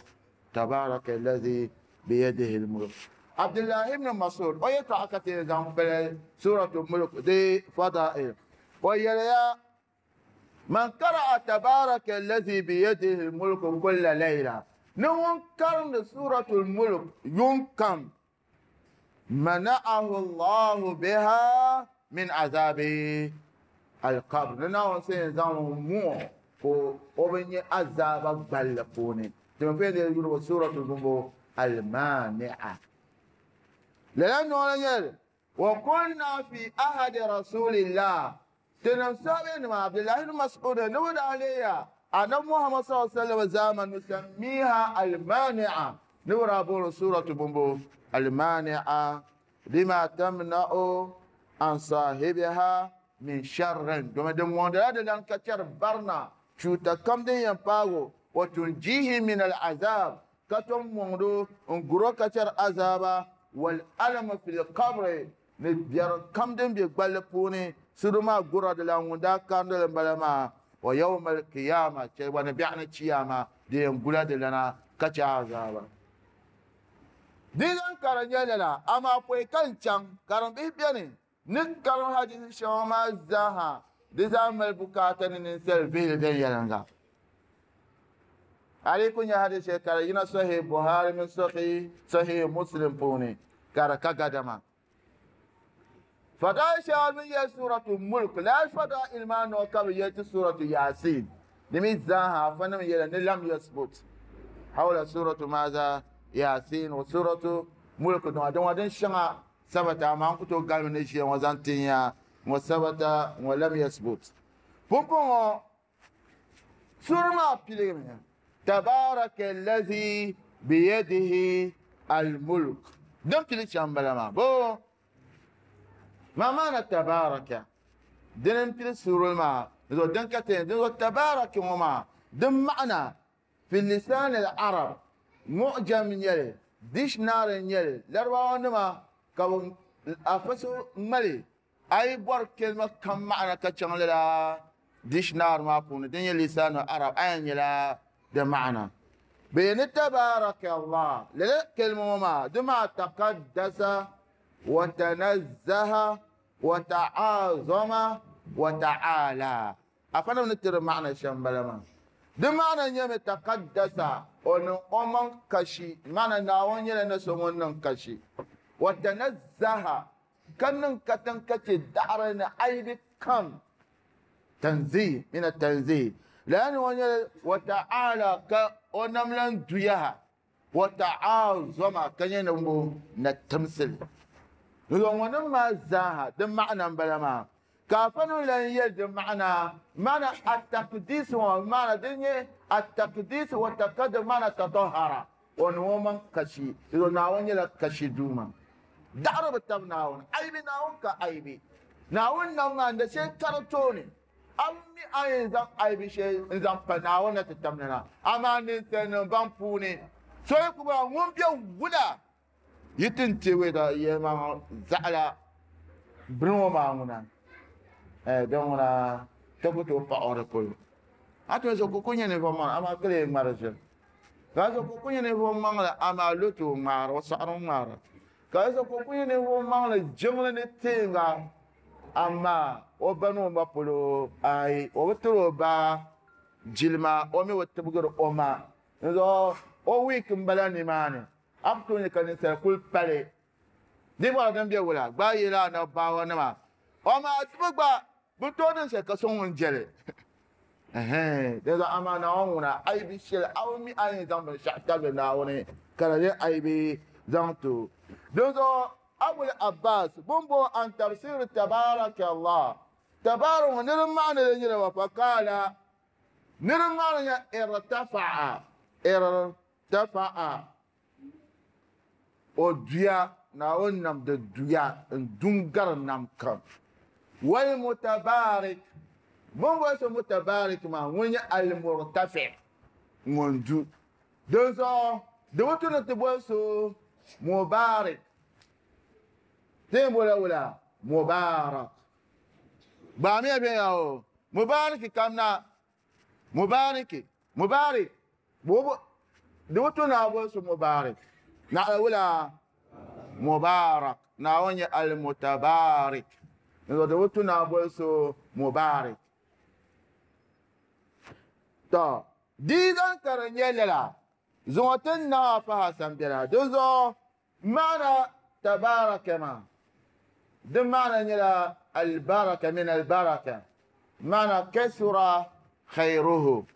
S1: Tabaraka alladhi biyadihi al-mulk. Abdullah ibn Mas'ud o yɛtɔɣa ka ti yɛn zaŋ pili suratu Mulk di fadail. O yɛliya man qara'a tabaraka alladhi biyadihi al-mulk kulla layla, ni ŋun karindi suratul Mulk yuŋ kam, mana'ahu Allahu biha min azabi al-qabr, ni Naawuni sa yɛn zaŋ muɣi ka o bi nyɛ azaaba gballi puuni. Ti mi pun yɛn yuli suratul bumbo al-mani'a. Lala noo la nyɛli Wa kunna fi ahadi rasulillah. Tinim sahabi nima Abdullahi ibn Mas'ud ni bi daa leeya Annabi Muhammad sallallahu alaihi wasallam zaman nusammiha al-mani'a. Ni bi daa booni suratu bumbo al-mani'a lima tamna'u an sahibiha min sharrin. Domin din ŋɔŋdila di lan ka chɛri barina chuuta kam din yɛn paago wa tunjihi min al-azab ka tom mɔŋdo n guro ka chɛri azaba wal alama fil qabri ni biɛri kam din be gballi puuni suru maa gura di lan ŋun daa karindi li m-bala maa wa yawma al-qiyama chɛ gba ni biɛɣu ni chiyama di yɛn gula di lana ka chɛ azaba. Di zaŋ ka di nyɛ lala, amaa pɔi ka n chaŋ karimbihi beni ni karim hadisi shɛŋa maa zaaha di zaa mali bukaata ni ninsal vihili viɛnyɛliŋga. A di ku nya hadisi shɛli ka di yina Sahih Buhari mini Sahih Muslim puuni ka di ka gadama. Fadail shɛŋa bɛ ni yɛli Suratu Mulk, lala fadail maa noo ka bɛ yɛli ti Suratu Yasin. Di mi zaaha afanim yɛla ni lam yasbut hawla Suratu maza Yasin wa Suratu Mulk dɔŋa dɔŋa din shɛŋa sabata amaa n ku tooi galimi ni ʒiya ŋɔ zaŋ tin ya ŋɔ sabata ŋɔ lam yasbut. Pumpɔŋɔ sura maa piligimi tabaraka allazi biyadihi almulk din pili shɛm bala maa bo ma maana tabaraka dini n pili suurili maa zuɣu din ka ti din zuɣu tabaraka ŋɔ maa din maana fi lisan al-arab mu'jam nyɛli dictionary nyɛli larabawa nima ka bi afa so ŋmali a yi bɔri kelima kam maana ka chaŋ lala dictionary maa puuni din nyɛ lisan al-arab a yɛn nyɛla di maana bee ni tabaraka Allah lala kelima ŋɔ maa di maa taqaddasa wa tanazzaha wa ta'azama wa ta'ala afa nim ni ti di maana shɛm bala maa di maana nyɛmi taqaddasa o niŋ o maŋ kashi maana Naawuni nyɛla na so ŋun niŋ kashi wa tanazzaha ka niŋ katiŋ ka chɛ daɣari ni aibi kam tanzih min tanzih lala ni ŋɔ nyɛla wa ta'ala ka o nam lan duyaha wa ta'azama ka nyɛ ni na timsili ŋɔ nim maa zaaha di maana n bala maa ka afa nim lan yɛli di maana maana ataqdis ŋɔ maana din nyɛ ataqdis wa taqaddus maana tatahara o niŋ o maŋ kashi Naawuni nyɛla kashi duuma daɣari bi tabi Naawuni aibi Naawuni ka aibi Naawuni nam maa n da shɛli kari tooni a mi a yɛn zaŋ aibi shɛli n zaŋ pa Naawuni na ti tam na amaa ninsalinima ban puuni so yi ku bɔra ŋun be wula yi ti n teei da yɛlimaŋ zaɣila bini ŋɔ maa ŋuna din ŋuna ti ku tooi paɣi o di polo a ti so ku nyɛ ninvuɣu maŋli amaa ka lee ŋmari ʒiri ka so ku nyɛ ninvuɣu maŋli amaa lo ti o ŋmaara o saɣari ŋmaara ka so ku nyɛ ninvuɣu maŋli jiŋli ni teenga amaa o ba ni o ma polo ayi o bi tiri o ba jilima o mi bi tibigiri o ma n zuɣu o wiiki n bala nimaani a ku tooi nyɛ ka ninsal kuli pali di bɔra din be wula gba yɛla anabaawa nima o maa tibi gba bi tooi niŋ shɛli ka so ŋun jɛli di zuɣu amaa Naawuni ŋuna aibi shɛli a bi mi a yɛn zaŋ binshaɣu tabili Naawuni ka di nyɛ aibi zaŋ ti o din zuɣu Abul Abbas bumbo an tafsir tabaraka Allah tabarak ŋɔ niriba maani li nyɛla wa faqala niriba maani nyɛ irtafa'a irtafa'a o duya Naawuni nam di duya n dun gari nam kam wal mutabarik bumbo so mutabarik maa ŋun nyɛ al murtafi ŋun du din zuɣu di bi tu ni ti boli so mubarik ti yɛn bola wula mubarak gbaamiya bɛ ya o mubarik kam na mubarik mubarik di bi tu ni a boli so mubarik naɣila wula mubarak Naawuni nyɛ al mutabarik di bi tu ni a boli so mubarik to di zaŋ ka di nyɛ lala zuŋɔ ti naa faha sambɛla din zuɣu maana tabaraka maa di maana nyɛla albaraka min albaraka maana kasura khayruhu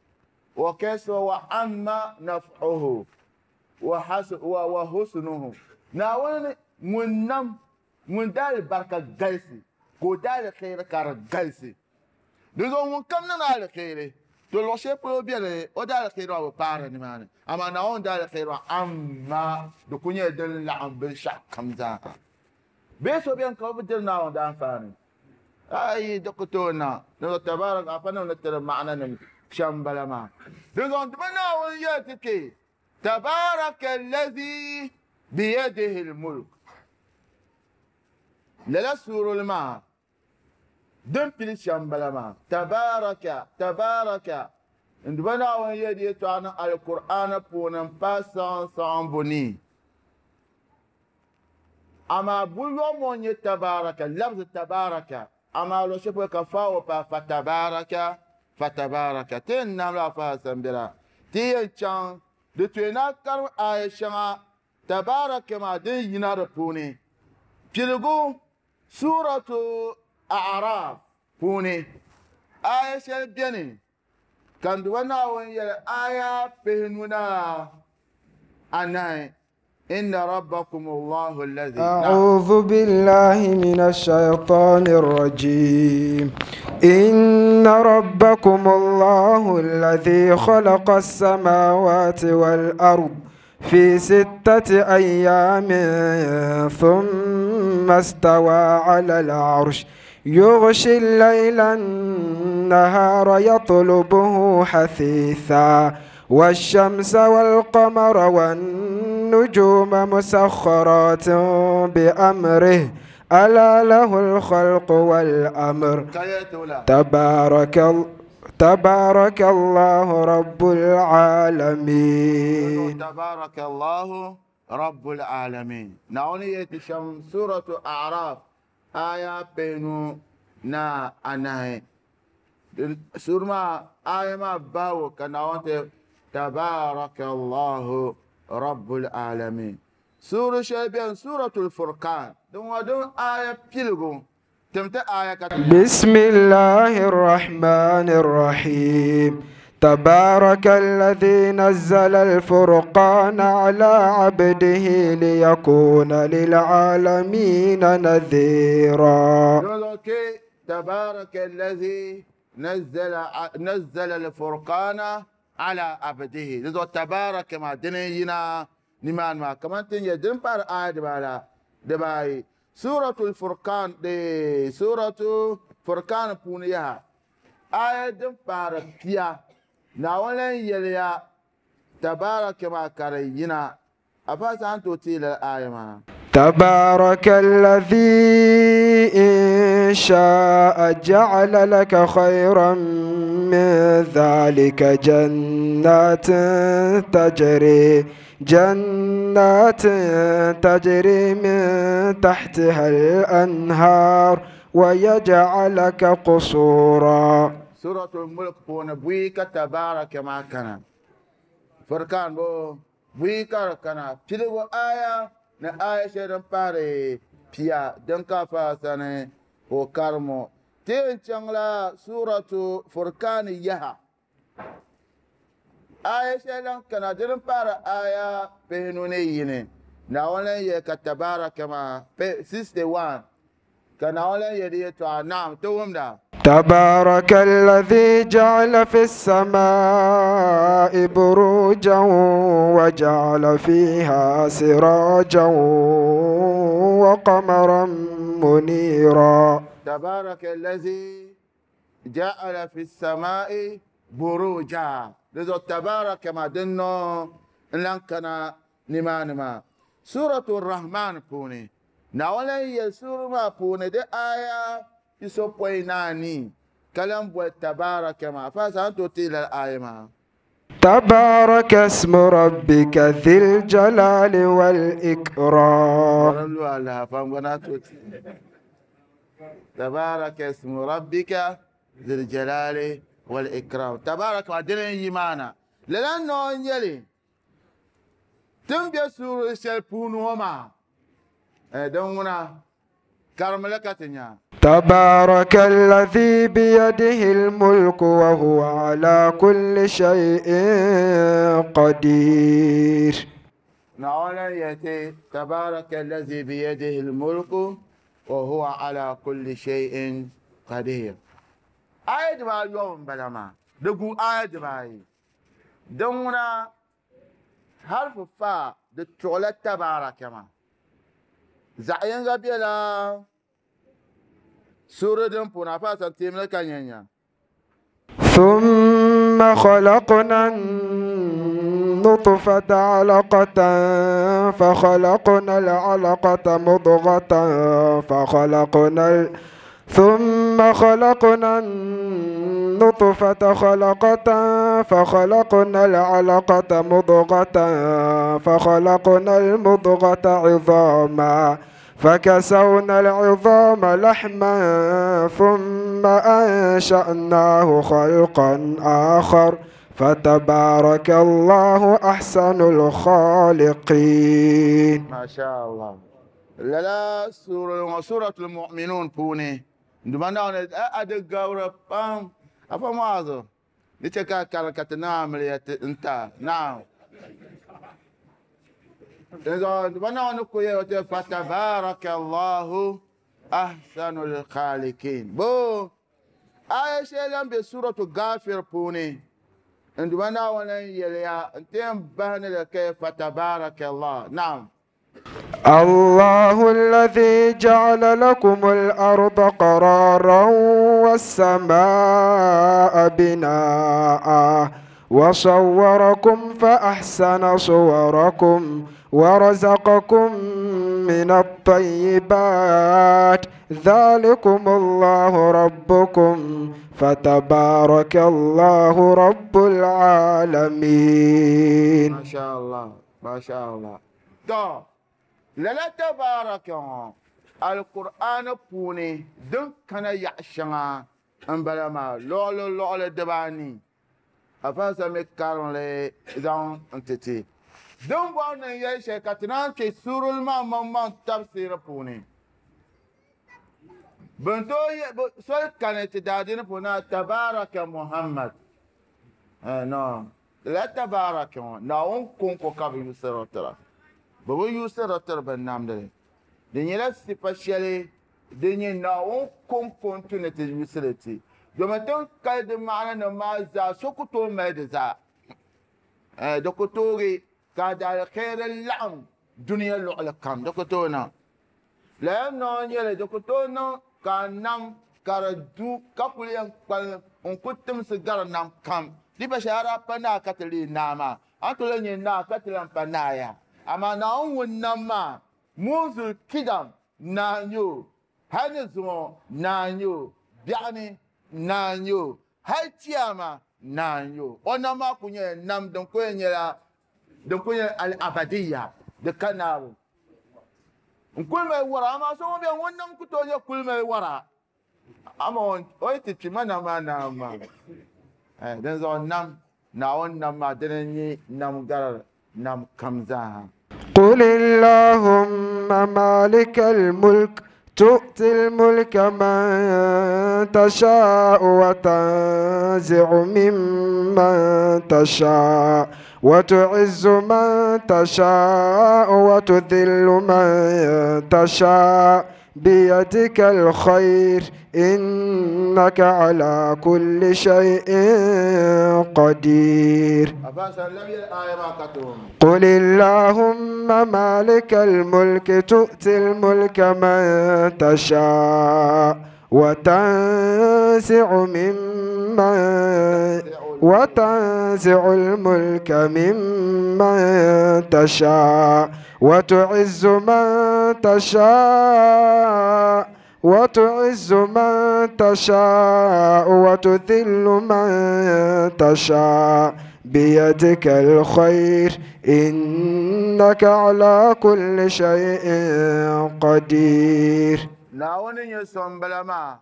S1: wa kasura wa amma naf'uhu wa husnuhu Naawuni ŋun nam Ŋun daalibarika galisi ka o daaliheri ka di galisi. Di zuɣu ŋunkam niŋdi aliheri, to luɣ shɛli polo beni o daaliheri maa bi paari nimaani, amaa Naawuni daaliheri maa amaa di kul nyɛla din laɣim binshɛɣukam zaaha. Bee so beni ka o bi diri Naawuni daanfaani? Ayi, di ku tooi niŋ. Dinzuɣu tabaaraka afanim ni tiri maɣananim shɛm m-bala maa. Dinzuɣu di bi Naawuni yɛli ti kpe, Tabaaraka allazi biyadihi l-mulk. Lala suurili maa din pili shɛm m-bala maa, Tabaaraka, Tabaaraka, n-duba Naawuni yɛli di yɛtɔɣa niŋ Alkur'aana puuni m-paai saɣim saɣimbu ni. Amaa buyɔŋ ŋɔ n-nyɛ Tabaaraka, labzi Tabaaraka, amaa luɣ shɛli polo ka faawo paai Fatabaaraka, Fatabaaraka. Ti yɛn namla Afa Hassan bela, ti yɛn chaŋ di tuya ni a karim aaya shɛŋa Tabaaraka maa din yina di puuni piligu Suuratu A'raaf puuni aaya shɛli beni ka n Duuma Naawuni yɛli aaya 54 inna rabbakum Allahu allazi
S2: أعوذ بالله من الشيطان الرجيم إن ربكم الله الذي خلق السماوات والأرض في 6 أيام ثم استوى على العرش يغشي الليل النهار يطلبه حثيثا والشمس والقمر والنجوم مسخرات بأمره ألا له الخلق والأمر تبارك الله رب العالمين.
S1: تبارك الله رب العالمين. نعوني يتشم سورة أعراف آية بينو نا أناي سورة ما آية ما باو كنعونت تبارك الله رب العالمين. سورة شبيان سورة الفرقان دون دون آية بيلغو.
S2: بسم الله الرحمن الرحيم تبارك الذي نزل الفرقان على عبده ليكون للعالمين نذيرا.
S1: تبارك الذي نزل الفرقان على عبده. تبارك ما دنينا نمان ما كمان تنجي دنبار آية دبالا دباي سورة الفرقان دي سورة فرقان بونيها آية دنبار بيا ناولا يليا تبارك ما كرينا أفاس أنتو تيل الآية ما
S2: تبارك الذي إن شاء جعل لك خيرا من ذلك جنات تجري من تحتها الأنهار ويجعلك قصورا.
S1: سورة الملك بون بويك تبارك ما كان فرقان بو بويك كان تلو آية na آية شيرن باري بيا دنكا فاساني وكارمو تين چنگلا سورة فرقان يها آية شيرن كان دن بار آية بهنوني يني ناولا يكتبارك ما 61 كان أولا يدي نعم توم دا
S2: تبارك الذي جعل في السماء بروجا وجعل فيها سراجا وقمرا منيرا.
S1: تبارك الذي جعل في السماء بروجا. لذا تبارك ما دنو لنكنا نما سورة الرحمن بوني ناولا يسور ما بوني دي آية يسوبويناني كلام بو تبارك ما فاسانتو تيل الآية ما
S2: تبارك اسم ربك ذي الجلال والإكرام.
S1: تبارك اسم ربك ذي الجلال والإكرام. تبارك ما دين يمانا لأنه يلي تنبي سورة سلبونهما دونا كرملكتنا.
S2: تبارك الذي بيده الملك وهو على كل شيء قدير.
S1: نعولا يأتي تبارك الذي بيده الملك Wa huwa ala kulli shay'in qadir. Aya dibaayobu m-bala maa. Di gu aya dibaayi. Din ŋuna harfu fa di tuɣila tabaraka maa. Zaɣ yinga bela suuri din puuni afa san teemli ka nyanya.
S2: ثم خلقنا النطفة علقة فخلقنا العلقة مضغة فخلقنا ثم خلقنا النطفة خلقة فخلقنا العلقة مضغة فخلقنا المضغة عظاما فكسونا العظام لحما ثم أنشأناه خلقا آخر فتبارك الله أحسن الخالقين.
S1: ما شاء الله. لا سورة سورة المؤمنون بوني دمنا أدق بام أفهم هذا نتكا كركت نعم أنت نعم فتبارك الله أحسن الخالقين. بو آية شيئا بسورة غافر بوني عندما ولن يليا انتم بهن لك فتبارك الله. نعم.
S2: الله الذي جعل لكم الأرض قرارا والسماء بناء وصوركم فأحسن صوركم ورزقكم من الطيبات ذلكم الله ربكم فتبارك الله رب العالمين.
S1: ما شاء الله ما شاء الله. تو لا تبارك القرآن بوني دون كان يعشنا أم بلا ما لولو لولو دباني أفاسا مكارون لي زان انتتي دون بون يشي كتنان كي سور الماء ممان تفسير بوني بنتو سول كانت دادين بونا تبارك محمد. نو لا تبارك ناون كونكو كابي يسر ترى بابو يسر ترى بنام دلي دنيا سيفاشلي دنيا ناون كونكو تونتي يسرتي domin kal di maana ni maa zaa so ku tooi mali di zaa di ku toogi ka di alkhairi laɣim duniya luɣuli kam di ku tooi niŋ lala noo nyɛli di ku tooi niŋ ka nam ka di du ka kuli yɛn kpalim n ku timsi gari nam kam di pa shɛli a daa pa naa ka ti leei naa maa a ni tooi nyɛ naa ka ti lan pa naa ya amaa Naawuni ŋun nam maa munzul kidam naa n-nyɛ o hali ni zuŋɔ naa n-nyɛ o biɛɣu ni naa n-nyɛ o hali tiyama naa n-nyɛ o o nam maa ku nyɛla nam din ku yɛn nyɛla din ku nyɛla al-abadiya di ka naabu n kuli mali wara amaa so ŋun bɛ ŋun nam ku tooi nyɛ kuli mali wara ama o yi ti kpi ma nam maa naa maa din zuɣu nam Naawuni nam maa dini n-nyɛ nam gari nam kam zaa.
S2: قل اللهم مالك الملك تؤتي الملك من تشاء وتنزع ممن تشاء وتعز من تشاء وتذل من تشاء بيدك الخير إنك على كل شيء قدير. قل اللهم مالك الملك تؤتي الملك من تشاء وتنزع ممن وتنزع الملك ممن تشاء وتعز من تشاء وتعز من تشاء وتذل من تشاء بيدك الخير إنك على كل شيء قدير.
S1: ناوني يسون بلما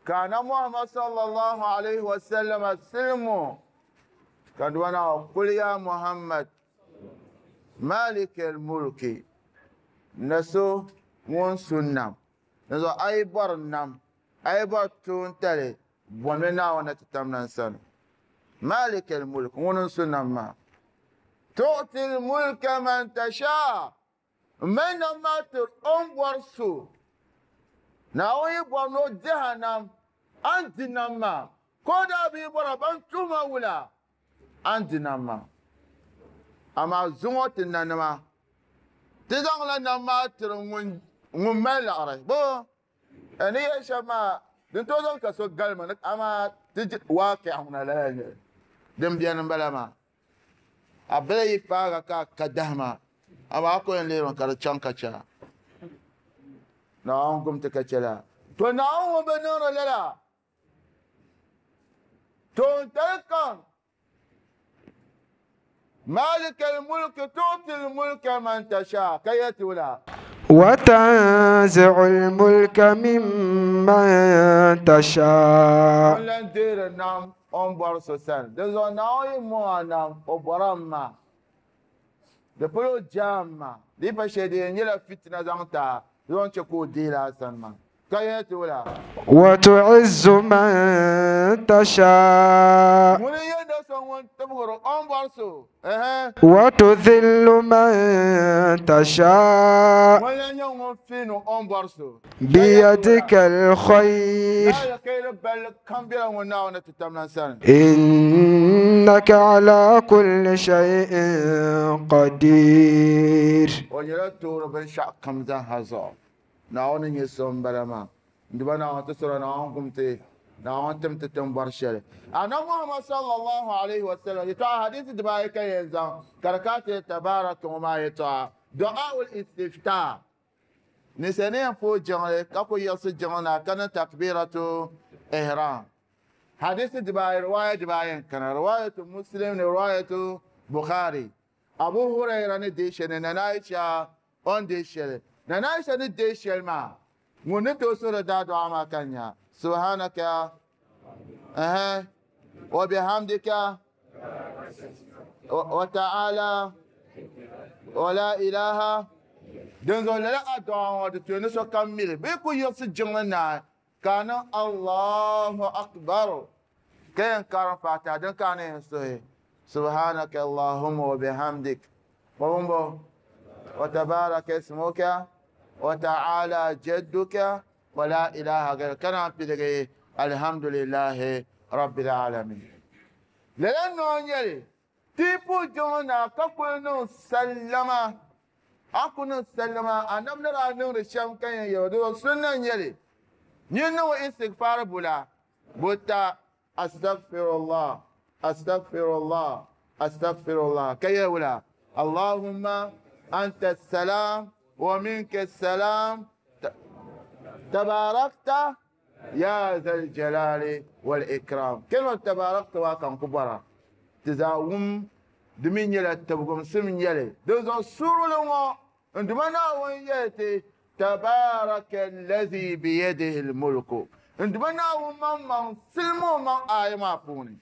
S1: كان محمد صلى الله عليه وسلم السلم كان وانا قل يا محمد مالك الملك نسو ŋun su nam dinzuɣu a yi bɔri nam a yi bɔri tuuntali bomi Naawuni ti tam na n sani مالك الملك ŋuni n su nam maa tu'ti l-mulka man tasha Mali nam maa tiri o ni bɔri so. Naawuni yi bɔri ni o dihi a nam, a ni di nam maa. Ka o daa bi yi bɔra ban tuhi ma wula, a ni di nam maa. Amaa zuŋɔ ti nanima, ti zaŋla nam maa tiri ŋun ŋun mali liɣiri. Bo ni yɛli shɛm maa, din tooi zaŋ ka so galima ni, amaa ti waaqi'a ŋuna lala n-nyɛ li. Din beni m-bala maa. A bila yi paaga ka a ka dahima, amaa a ku yɛn lihirimi ka di chaŋ ka chɛ a. Naawuni gum ti ka chɛ la. To Naawuni ŋun bi niŋdi lala, toontali kam, Maalikal mulki tu'til mulka man tasha, ka yɛli ti wula?
S2: وتنزع الملك ممن تشاء.
S1: Ŋun lan deeri nam o ni bɔri so sani. Dinzuɣu Naawuni yi mɔŋ a nam, o bɔrimi maa. Di pala o jaam maa. Di yi pa shɛli di yɛn nyɛla fitina zaŋ ti a, di zaŋ chɛ ka o deeli a sani maa. Ka yɛli ti wula?
S2: وتعز من تشاء.
S1: Ŋuni n-nyɛ do so ŋun tibigiri o ni bɔri so? Ɛhɛn.
S2: وتذل من تشاء.
S1: Ŋuni n-lan nyɛ ŋun fiini o ni bɔri so?
S2: بيدك الخير.
S1: Alkhairi balli kam bela ŋun Naawuni ti tamlan sani.
S2: إنك على كل شيء قدير.
S1: O nyɛla toori binshɛɣu kam zaa zuɣu. Naawuni n-nyɛ so m-bala maa. N-duba Naawuni ti sɔra Naawuni gum ti, Naawuni tim ti ti ni bɔri shɛli. Annabi Muhammad sallallahu alayhi wa sallam yɛtɔɣa hadisi dibaayi ka yɛn zaŋ ka di ka ti tabaraka ŋɔ maa yɛtɔɣa du'aul istiftah. Ninsal ni yɛn pooi jiŋli ka ku yiɣisi jiŋli na ka niŋ takbiratu ihram. Hadisi dibaayi riwaaya dibaayi n-kana, riwaayatu Muslim ni riwaayatu Bukhari. Abu Huraira ni deei shɛli ni Nana Aisha o ni deei shɛli. Nana Aisha ni deei shɛli maa, ŋun ni tooi suhiri daadɔɣu maa ka nya, Subhanaka, ɛhɛn, wa bihamdika, wa ta'ala, wa la ilaha. Dinzuɣu lala addu'a ŋɔ di tuhi ni sokam mi li. Bɛ yi ku yiɣisi jiŋli naai ka a niŋ Allahu Akbar ka yɛn karim Fatiha din ka a ni yɛn suhi Subhanaka Allahumma wa bihamdik wa bumbo wa tabaraka ismuka wa ta'ala jadduka wa la ilaha ghayruka ka naan piligi alhamdulillahi rabbil alamin. Lala noo nyɛli ti yi puhi jiŋli na ka kuli niŋ sallama, a ku niŋ sallama anabi ni daa niŋdi shɛm ka yɛn yɛli di zuɣu sunna n-nyɛli nyin niŋ istighfar bula buta astaghfirullah astaghfirullah astaghfirullah ka yɛli wula Allahumma anta salam wa minka salam tabarakta ya zal jalali wal ikram. Kalima tabarakta waa ka n ku bɔra ti zaa wum di mi nyɛla tibigimsim nyɛli. Dinzuɣu suurili ŋɔ n Duuma Naawuni yɛli ti tabaraka allazi biyadihi almulku. N Duuma Naawuni maŋmaŋ silimi o maŋ aaya maa puuni.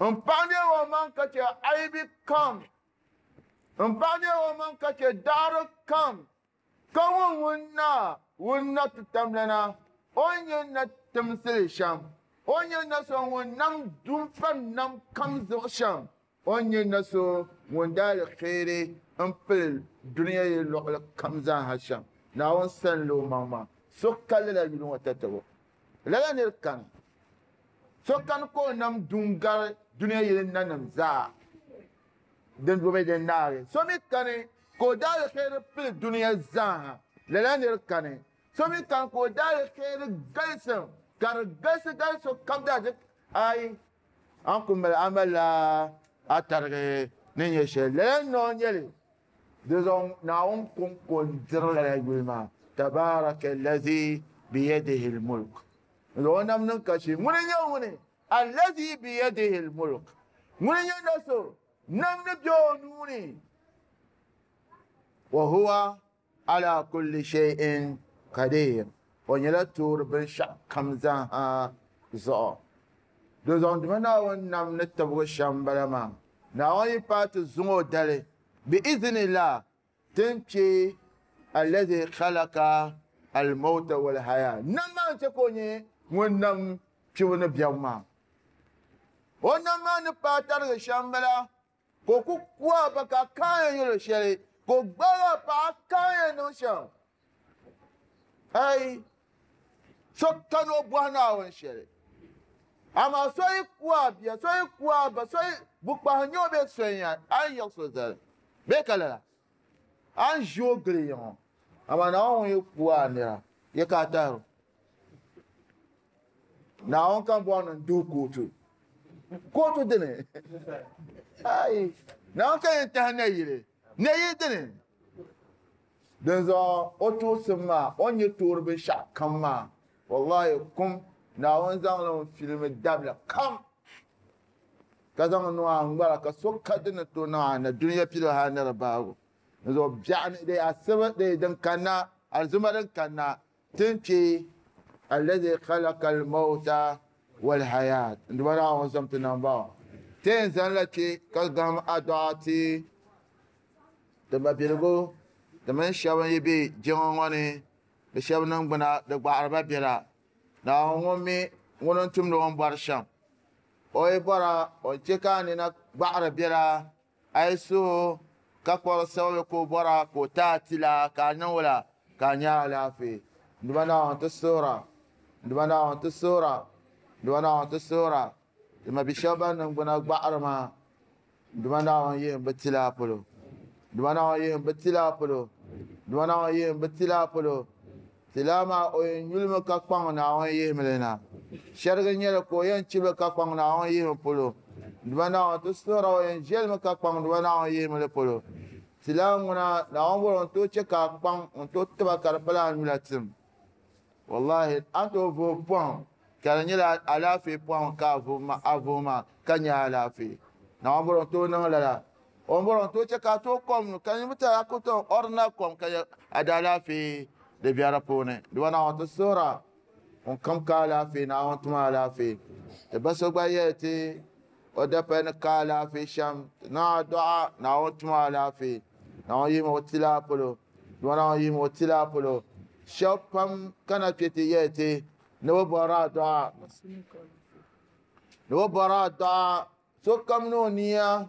S1: N paɣi neegi o maŋ ka chɛ aibi kam. N paɣi neegi o maŋ ka chɛ daɣiri kam. Ka ŋun ŋun na ŋun na ti tamlana, o ni nyɛ na timsili shɛm, o ni nyɛ na so ŋun nam dunfani nam kam zuɣu shɛm, o ni nyɛ na so ŋun daalikairi m-pili dunia yi luɣili kam zaaha shɛm. Naawuni sani la o maŋmaŋ. So ka lala yuli ŋɔ tatabo. Lala nir kani. So kani ka o nam duŋ gari dunia yili nanim zaa din bi din naagi. So mi kani ka o daalikairi pili dunia zaaha. Lala nir kani. So mi kani ka o daalikairi galisim ka di galisi gali so kam daa di ayi. An ku mali a malila a tarigi ni nyɛ shɛli. Lala noo nyɛli di zuɣu Naawuni kɔŋko n-diri lala yuli maa. Tabaraka allazi biyadihi almulk. O nam niŋ kashi. Ŋuni n-nyɛ ŋuni? Allazi biyadihi almulk. Ŋuni n-nyɛ na so nam ni be o nuu ni. Wa huwa ala kulli shay'in qadir. O nyɛla toori binshɛɣu kam zaaha zuɣu. Di zuɣu n Duuma Naawuni nam ni tibigi shɛm m-bala maa. Naawuni yi paai ti zuŋ o dali bi iznillah ti ni kpe allazi khalaqa al-mawta wal-haya. Nam maa n-chɛ ka o nyɛ ŋun nam kpibu ni biɛbu maa. O nam maa ni paai tarigi shɛm m-bala ka o ku ku a ba ka a kaai yɛn yɛl o shɛli. Ko gbala paɣa kam yɛn niŋ shɛm. Ai so kani o bɔhi Naawuni shɛli. Amaa so yi ku a bia, so yi ku a ba, so yi bukpahi nyɛ o bee so n-ya, a ni yiɣisi o zali. Bee ka lala? A ni ʒi o gili yiŋɔ. Amaa Naawuni ŋun yi ku a nira, ya ka a tahiri o. Naawuni kam bɔri ni n duhi kootu. Kootu dini? Ai, Naawuni ka yɛn tahi nayili. Nayili dini? Dinzuɣu o tuɣisim maa, o ni nyɛ toori binshɛɣu kam maa, wallahi kum, Naawuni zaŋli n-filimi dabila kam, ka zaŋ niŋ a ŋmara ka so ka di ni tooi niŋ a na dunia piligu hali ni di baagu. Dinzuɣu biɛɣu ni di asiba di din kanna, alizuma din kanna, ti ni kpe allazi khalaqa al-mawta wal-hayat. N-duba Naawuni zom ti nambɔɣu. Ti yɛn zanila kpe ka gahim adua ti ti mabiligu, ti mini shɛba n-yi be jiŋa ŋɔ ni, bɛ shɛba niŋgbuna di gbaɣiri ba biɛla. Naawuni ŋun mi ŋuni n-tumdi o ni bɔri shɛm. O yi bɔra, o ni chɛ ka a nina gbaɣiri biɛla, a yi suhu ka kpuɣiri sababi ka o bɔra ka o ti a tila ka a niŋ o la ka a nya alaafee. N-duba Naawuni ti suhira, n-duba Naawuni ti suhira, n-duba Naawuni ti suhira. Ti mabi shɛba ban niŋgbuna gbaɣiri maa, Duma Naawuni yihim bɛ tilaa polo. Duma Naawuni yihim bɛ tilaa polo. Duma Naawuni yihim bɛ tilaa polo. Tilaa maa o yɛn nyulimi ka kpaŋ Naawuni yihimi li na. Shɛrigi nyɛli ka o yɛn chibili ka kpaŋ Naawuni yihimi polo. Duma Naawuni ti suhira o yɛn ʒiɛlimi ka kpaŋ Duma Naawuni yihimi li polo. Tilaa ŋuna Naawuni bɔri o ni tooi chɛ ka a kpaŋ n tooi tiba ka di pala a nyula tim. Wallahi a ni tooi vuhi pɔhim ka di nyɛla alaafee pɔhim ka a vuhi maa ka nya alaafee. Naawuni bɔri o ni tooi niŋ lala. O ni bɔri o ni tooi chɛ ka a tooi kom ka nyɛ tari a ku tooi ordinary kom ka a di alaafee di be di puuni. Dama Naawuni ti suhira ŋun kam ka alaafee Naawuni tum alaafee. Ti ba so gba yɛli ti o dapali ni ka alaafee shɛm ti niŋ adua Naawuni tum alaafee. Naawuni yihimi o tilaa polo. Dama Naawuni yihimi o tilaa polo. Shɛba pam kana kpe ti yɛli ti ni bɛ bɔri adua. Ni bɛ bɔri adua sokam ni o nia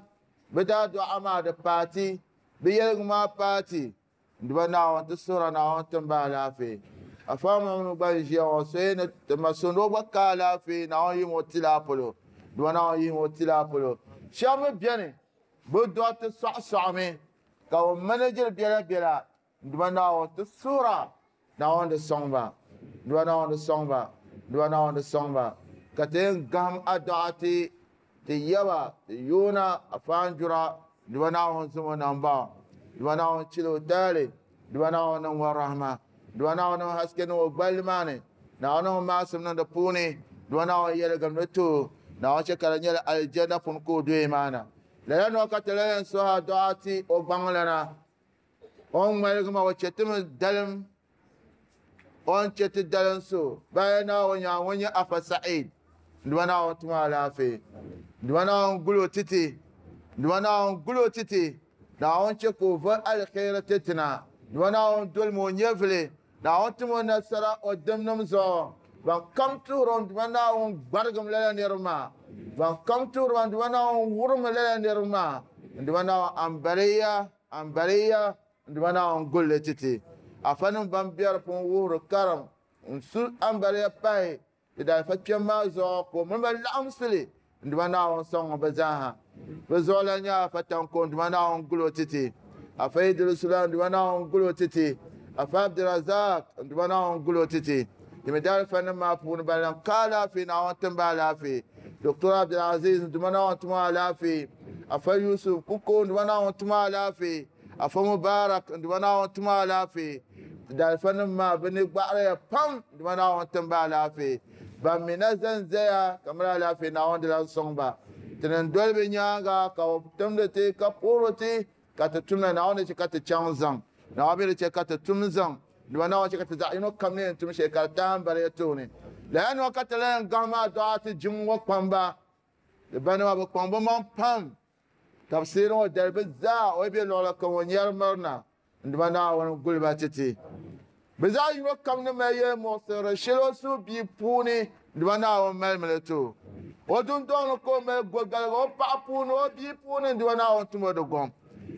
S1: bɛ daa dɔɣa maa di paati, bɛ yɛligu maa paati. N-duba Naawuni ti suhira Naawuni tim ba alaafee. Afa Mamnu gba n-ʒiya ŋɔ so yi ni ti ma so ni o gba ka alaafee Naawuni yihimi o tilaa polo. N-duba Naawuni yihimi o tilaa polo. Shɛba mi beni bɛ dɔɣiti sɔɣisɔɣimi ka bɛ manajiri bela bela. N-duba Naawuni ti suhira Naawuni di sɔŋ ba. N-duba Naawuni di sɔŋ ba. N-duba Naawuni di sɔŋ ba. Ka ti yɛn gahim adɔɣa ti ti yaba ti yoona afaanjura. N-duba Naawuni zom o nambɔɣu. N-duba Naawuni chili o taali. N-duba Naawuni niŋ o rahima. N-duba Naawuni niŋ haske niŋ o gballi maa ni. Naawuni niŋ maasim niŋ di puuni. N-duba Naawuni yɛligim di ti o. Naawuni chɛ ka di nyɛla alijanna puuni ka o doya maa na. Lala nɔɔ ka ti lahi yɛn suhi adɔɣa ti o gbaŋlana. O ni ŋmaligi maa o chɛ ti mi dalim, o ni chɛ ti dalim so baya Naawuni nyaŋ ŋun nyɛ Afa Sa'id. N-duba Naawuni tum alaafee. N-duba Naawuni guli o titi. N-duba Naawuni guli o titi. Naawuni chɛ ka o va aliheri ti ti na. N-duba Naawuni dolimi o nyɛvili. Naawuni tim o nasara o dimnim zuɣu. Ban kam tuhiri o n-duba Naawuni gbarigim lala niriba maa. Ban kam tuhiri ba n-duba Naawuni wurimi lala niriba maa. N-duba Naawuni ambaliya, ambaliya, n-duba Naawuni gulli ti ti. Afanim ban be di puuni wuhiri karim n-su ambaliya pahi di daalifa kpɛm maa zuɣu ka o mini ba laɣimsi li n-duba Naawuni sɔŋ bɛ zaaha. Bɛ zuɣu lan nyɛ Afa Tanko n-duba Naawuni guli o ti ti. Afa Idrisu lan n-duba Naawuni guli o ti ti. Afa Abdurazak n-duba Naawuni guli o ti ti. Di mi daalifanim maa puuni ban lan ka alaafee Naawuni tim ba alaafee. Doctor Abdulaziz n-duba Naawuni tim o alaafee. Afa Yusuf Kuko n-duba Naawuni tim o alaafee. Afa Mubarak n-duba Naawuni tim o alaafee. Daalifanim maa bɛ ni gbaɣiriya pam n-duba Naawuni tim ba alaafee. Ban mi na zanzaya ka mali alaafee Naawuni di lan sɔŋ ba. Ti ni doli bɛ nyaaŋa ka bɛ timdi ti ka puhiri ti ka ti tumda Naawuni ni chɛ ka ti chaŋ zaŋ. Naawuni mi di chɛ ka ti tum zaŋ. Dama Naawuni chɛ ka ti zaɣ yino kam ni yɛn tum shɛli ka di tahi m-bariya tooni. Lala nɔɔ ka ti lan yɛn gahim adɔɣa ti jiŋ ŋɔ kpamba. Di banima bɛ kpaŋ bɛ maŋ pam ka bɛ seeri ŋɔ dali bɛ zaa o yi be luɣili kam o nyari mirina. N-dama Naawuni guli ba ti ti. Bɛ zaɣ yino kam ni mali yɛlimuɣisirili shɛli o suhu bia puuni, n-dama Naawuni malimi li ti o. O dundɔŋ ni ka o mali gɔgaliga o paɣa puuni, o bia puuni, n-dama Naawuni tum o di gɔŋ.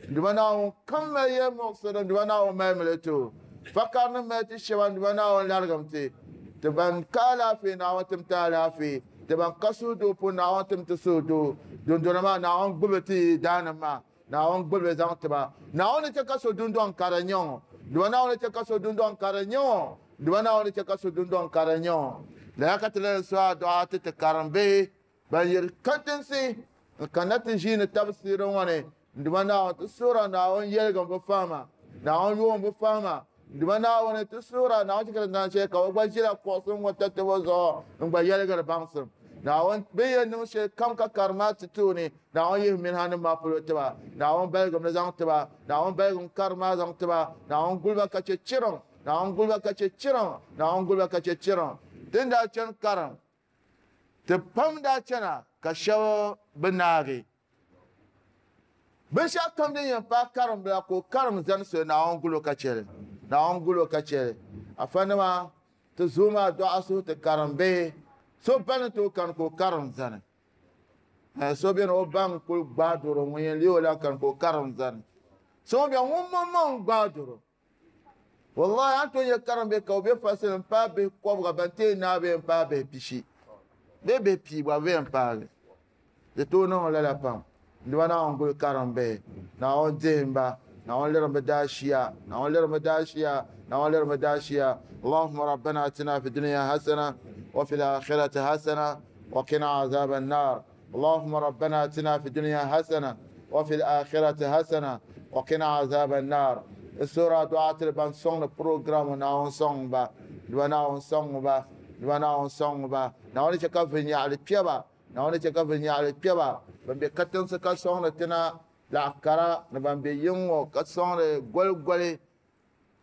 S1: N Duuma Naawuni kam mali yɛli muɣisiri n Duuma Naawuni mali mi li ti o. Fakari ni mali ti shɛba n Duuma Naawuni larigim ti. Ti ban ka alaafee Naawuni tim ti alaafee. Ti ban ka suhudoo puuni Naawuni tim ti suhudoo. Dundona maa Naawuni gbubi ti daanim maa. Naawuni gbubi zaŋ ti ba. Naawuni ni chɛ ka so dundɔŋ ka di nyɛ o. Duuma Naawuni ni chɛ ka so dundɔŋ ka di nyɛ o. Duuma Naawuni ni chɛ ka so dundɔŋ ka di nyɛ o. Lala ka ti lahi suhi adua ti ti karimbihi ban yiri katinsi n-kanna ti ʒiini tabisiiri ŋɔ ni. Duuma Naawuni ti suhira Naawuni yɛligim bi fahima. Naawuni yoom bi fahima. Duuma Naawuni ti suhira Naawuni chɛ ka ti naan shɛli ka o gba ʒila kuɣusi ŋɔ tatabo zuɣu n-gba yɛligiri baŋsim. Naawuni bɛ yɛn niŋ shɛli kam ka karim maa ti tooni, Naawuni yihi minha nim maa polo tiba. Naawuni baligim li zaŋ tiba. Naawuni baligim karim maa zaŋ tiba. Naawuni guli ba ka chɛ chiriŋ. Naawuni guli ba ka chɛ chiriŋ. Naawuni guli ba ka chɛ chiriŋ. Ti ni daa chani karim, ti pam daa chana ka shɛba bi naagi. Binshɛɣu kam din yɛn paai karim bila ka o karim zani soli, Naawuni guli o ka chɛ li. Naawuni guli o ka chɛ li. Afanima ti zooi maa dɔɣa suhu ti karim bihi. So ba ni tooi kani ka o karim zani. So beni o ba n-kuli gbaai doro ŋun yɛn leei o la kani ka o karim zani. So ŋun beni ŋun maŋmaŋ gbaai doro. Wallahi a ni tooi nya karim bihi ka o be fasili m-paai bihi kɔbiga ban ti yɛn naai bee m-paai bihi pishi bee bihi pia gba bɛ yɛn paagi. Di tooi niŋ lala pam. N-duba Naawuni guli karim bihi. Naawuni dihim ba. Naawuni lirim bɛ daashiya. Naawuni lirim bɛ daashiya. Naawuni lirim bɛ daashiya. Allahumma rabbana atina fi dunya hasana wa fil akhirati hasana wa qina azaban nar. Allahumma rabbana atina fi dunya hasana wa fil akhirati hasana wa qina azaban nar. Sura du'a tiri ban sɔŋdi program Naawuni sɔŋ ba. Duba Naawuni sɔŋ ba. Duba Naawuni sɔŋ ba. Naawuni chɛ ka vinnyaɣili kpe ba. Naawuni chɛ ka vinnyaɣili kpe ba. Ban be katinsi ka sɔŋdi tina laɣ kara ni ban be yiŋ ŋɔ ka sɔŋdi goligoli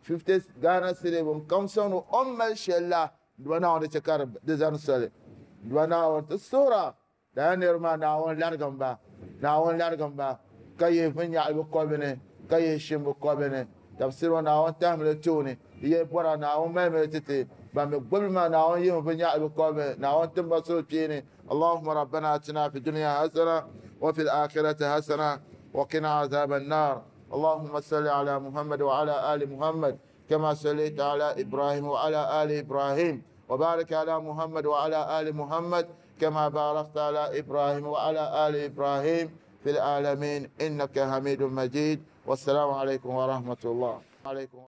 S1: 50 Ghana cedi bɛn kam sɔŋdi o ni mali shɛli la. Duba Naawuni chɛ ka di zani soli. Duba Naawuni ti suhira lala niriba maa Naawuni larigim ba. Naawuni larigim ba ka yihi vinnyaɣili bɛ kɔbili ni ka yihi shim bɛ kɔbili ni. Tafsiri ŋɔ Naawuni tahimi li tooni. Di yɛli bɔra Naawuni malimi li ti ti. Ban mi gbubili maa Naawuni yihimi vinnyaɣili bɛ kɔbili ni. Naawuni tim ba suhukpeeni. Allahumma rabbana atina fi dunya hasana wa fil akhirati hasana wa qina azaban nar. Allahumma salli ala Muhammad wa ala ali Muhammad kama sallaita ala Ibrahim wa ala ali Ibrahim wa barik ala Muhammad wa ala ali Muhammad kama barakta ala Ibrahim wa ala ali Ibrahim fil alamin innaka Hamidum Majid. Wassalamu alaikum wa rahmatullah. Alaikum.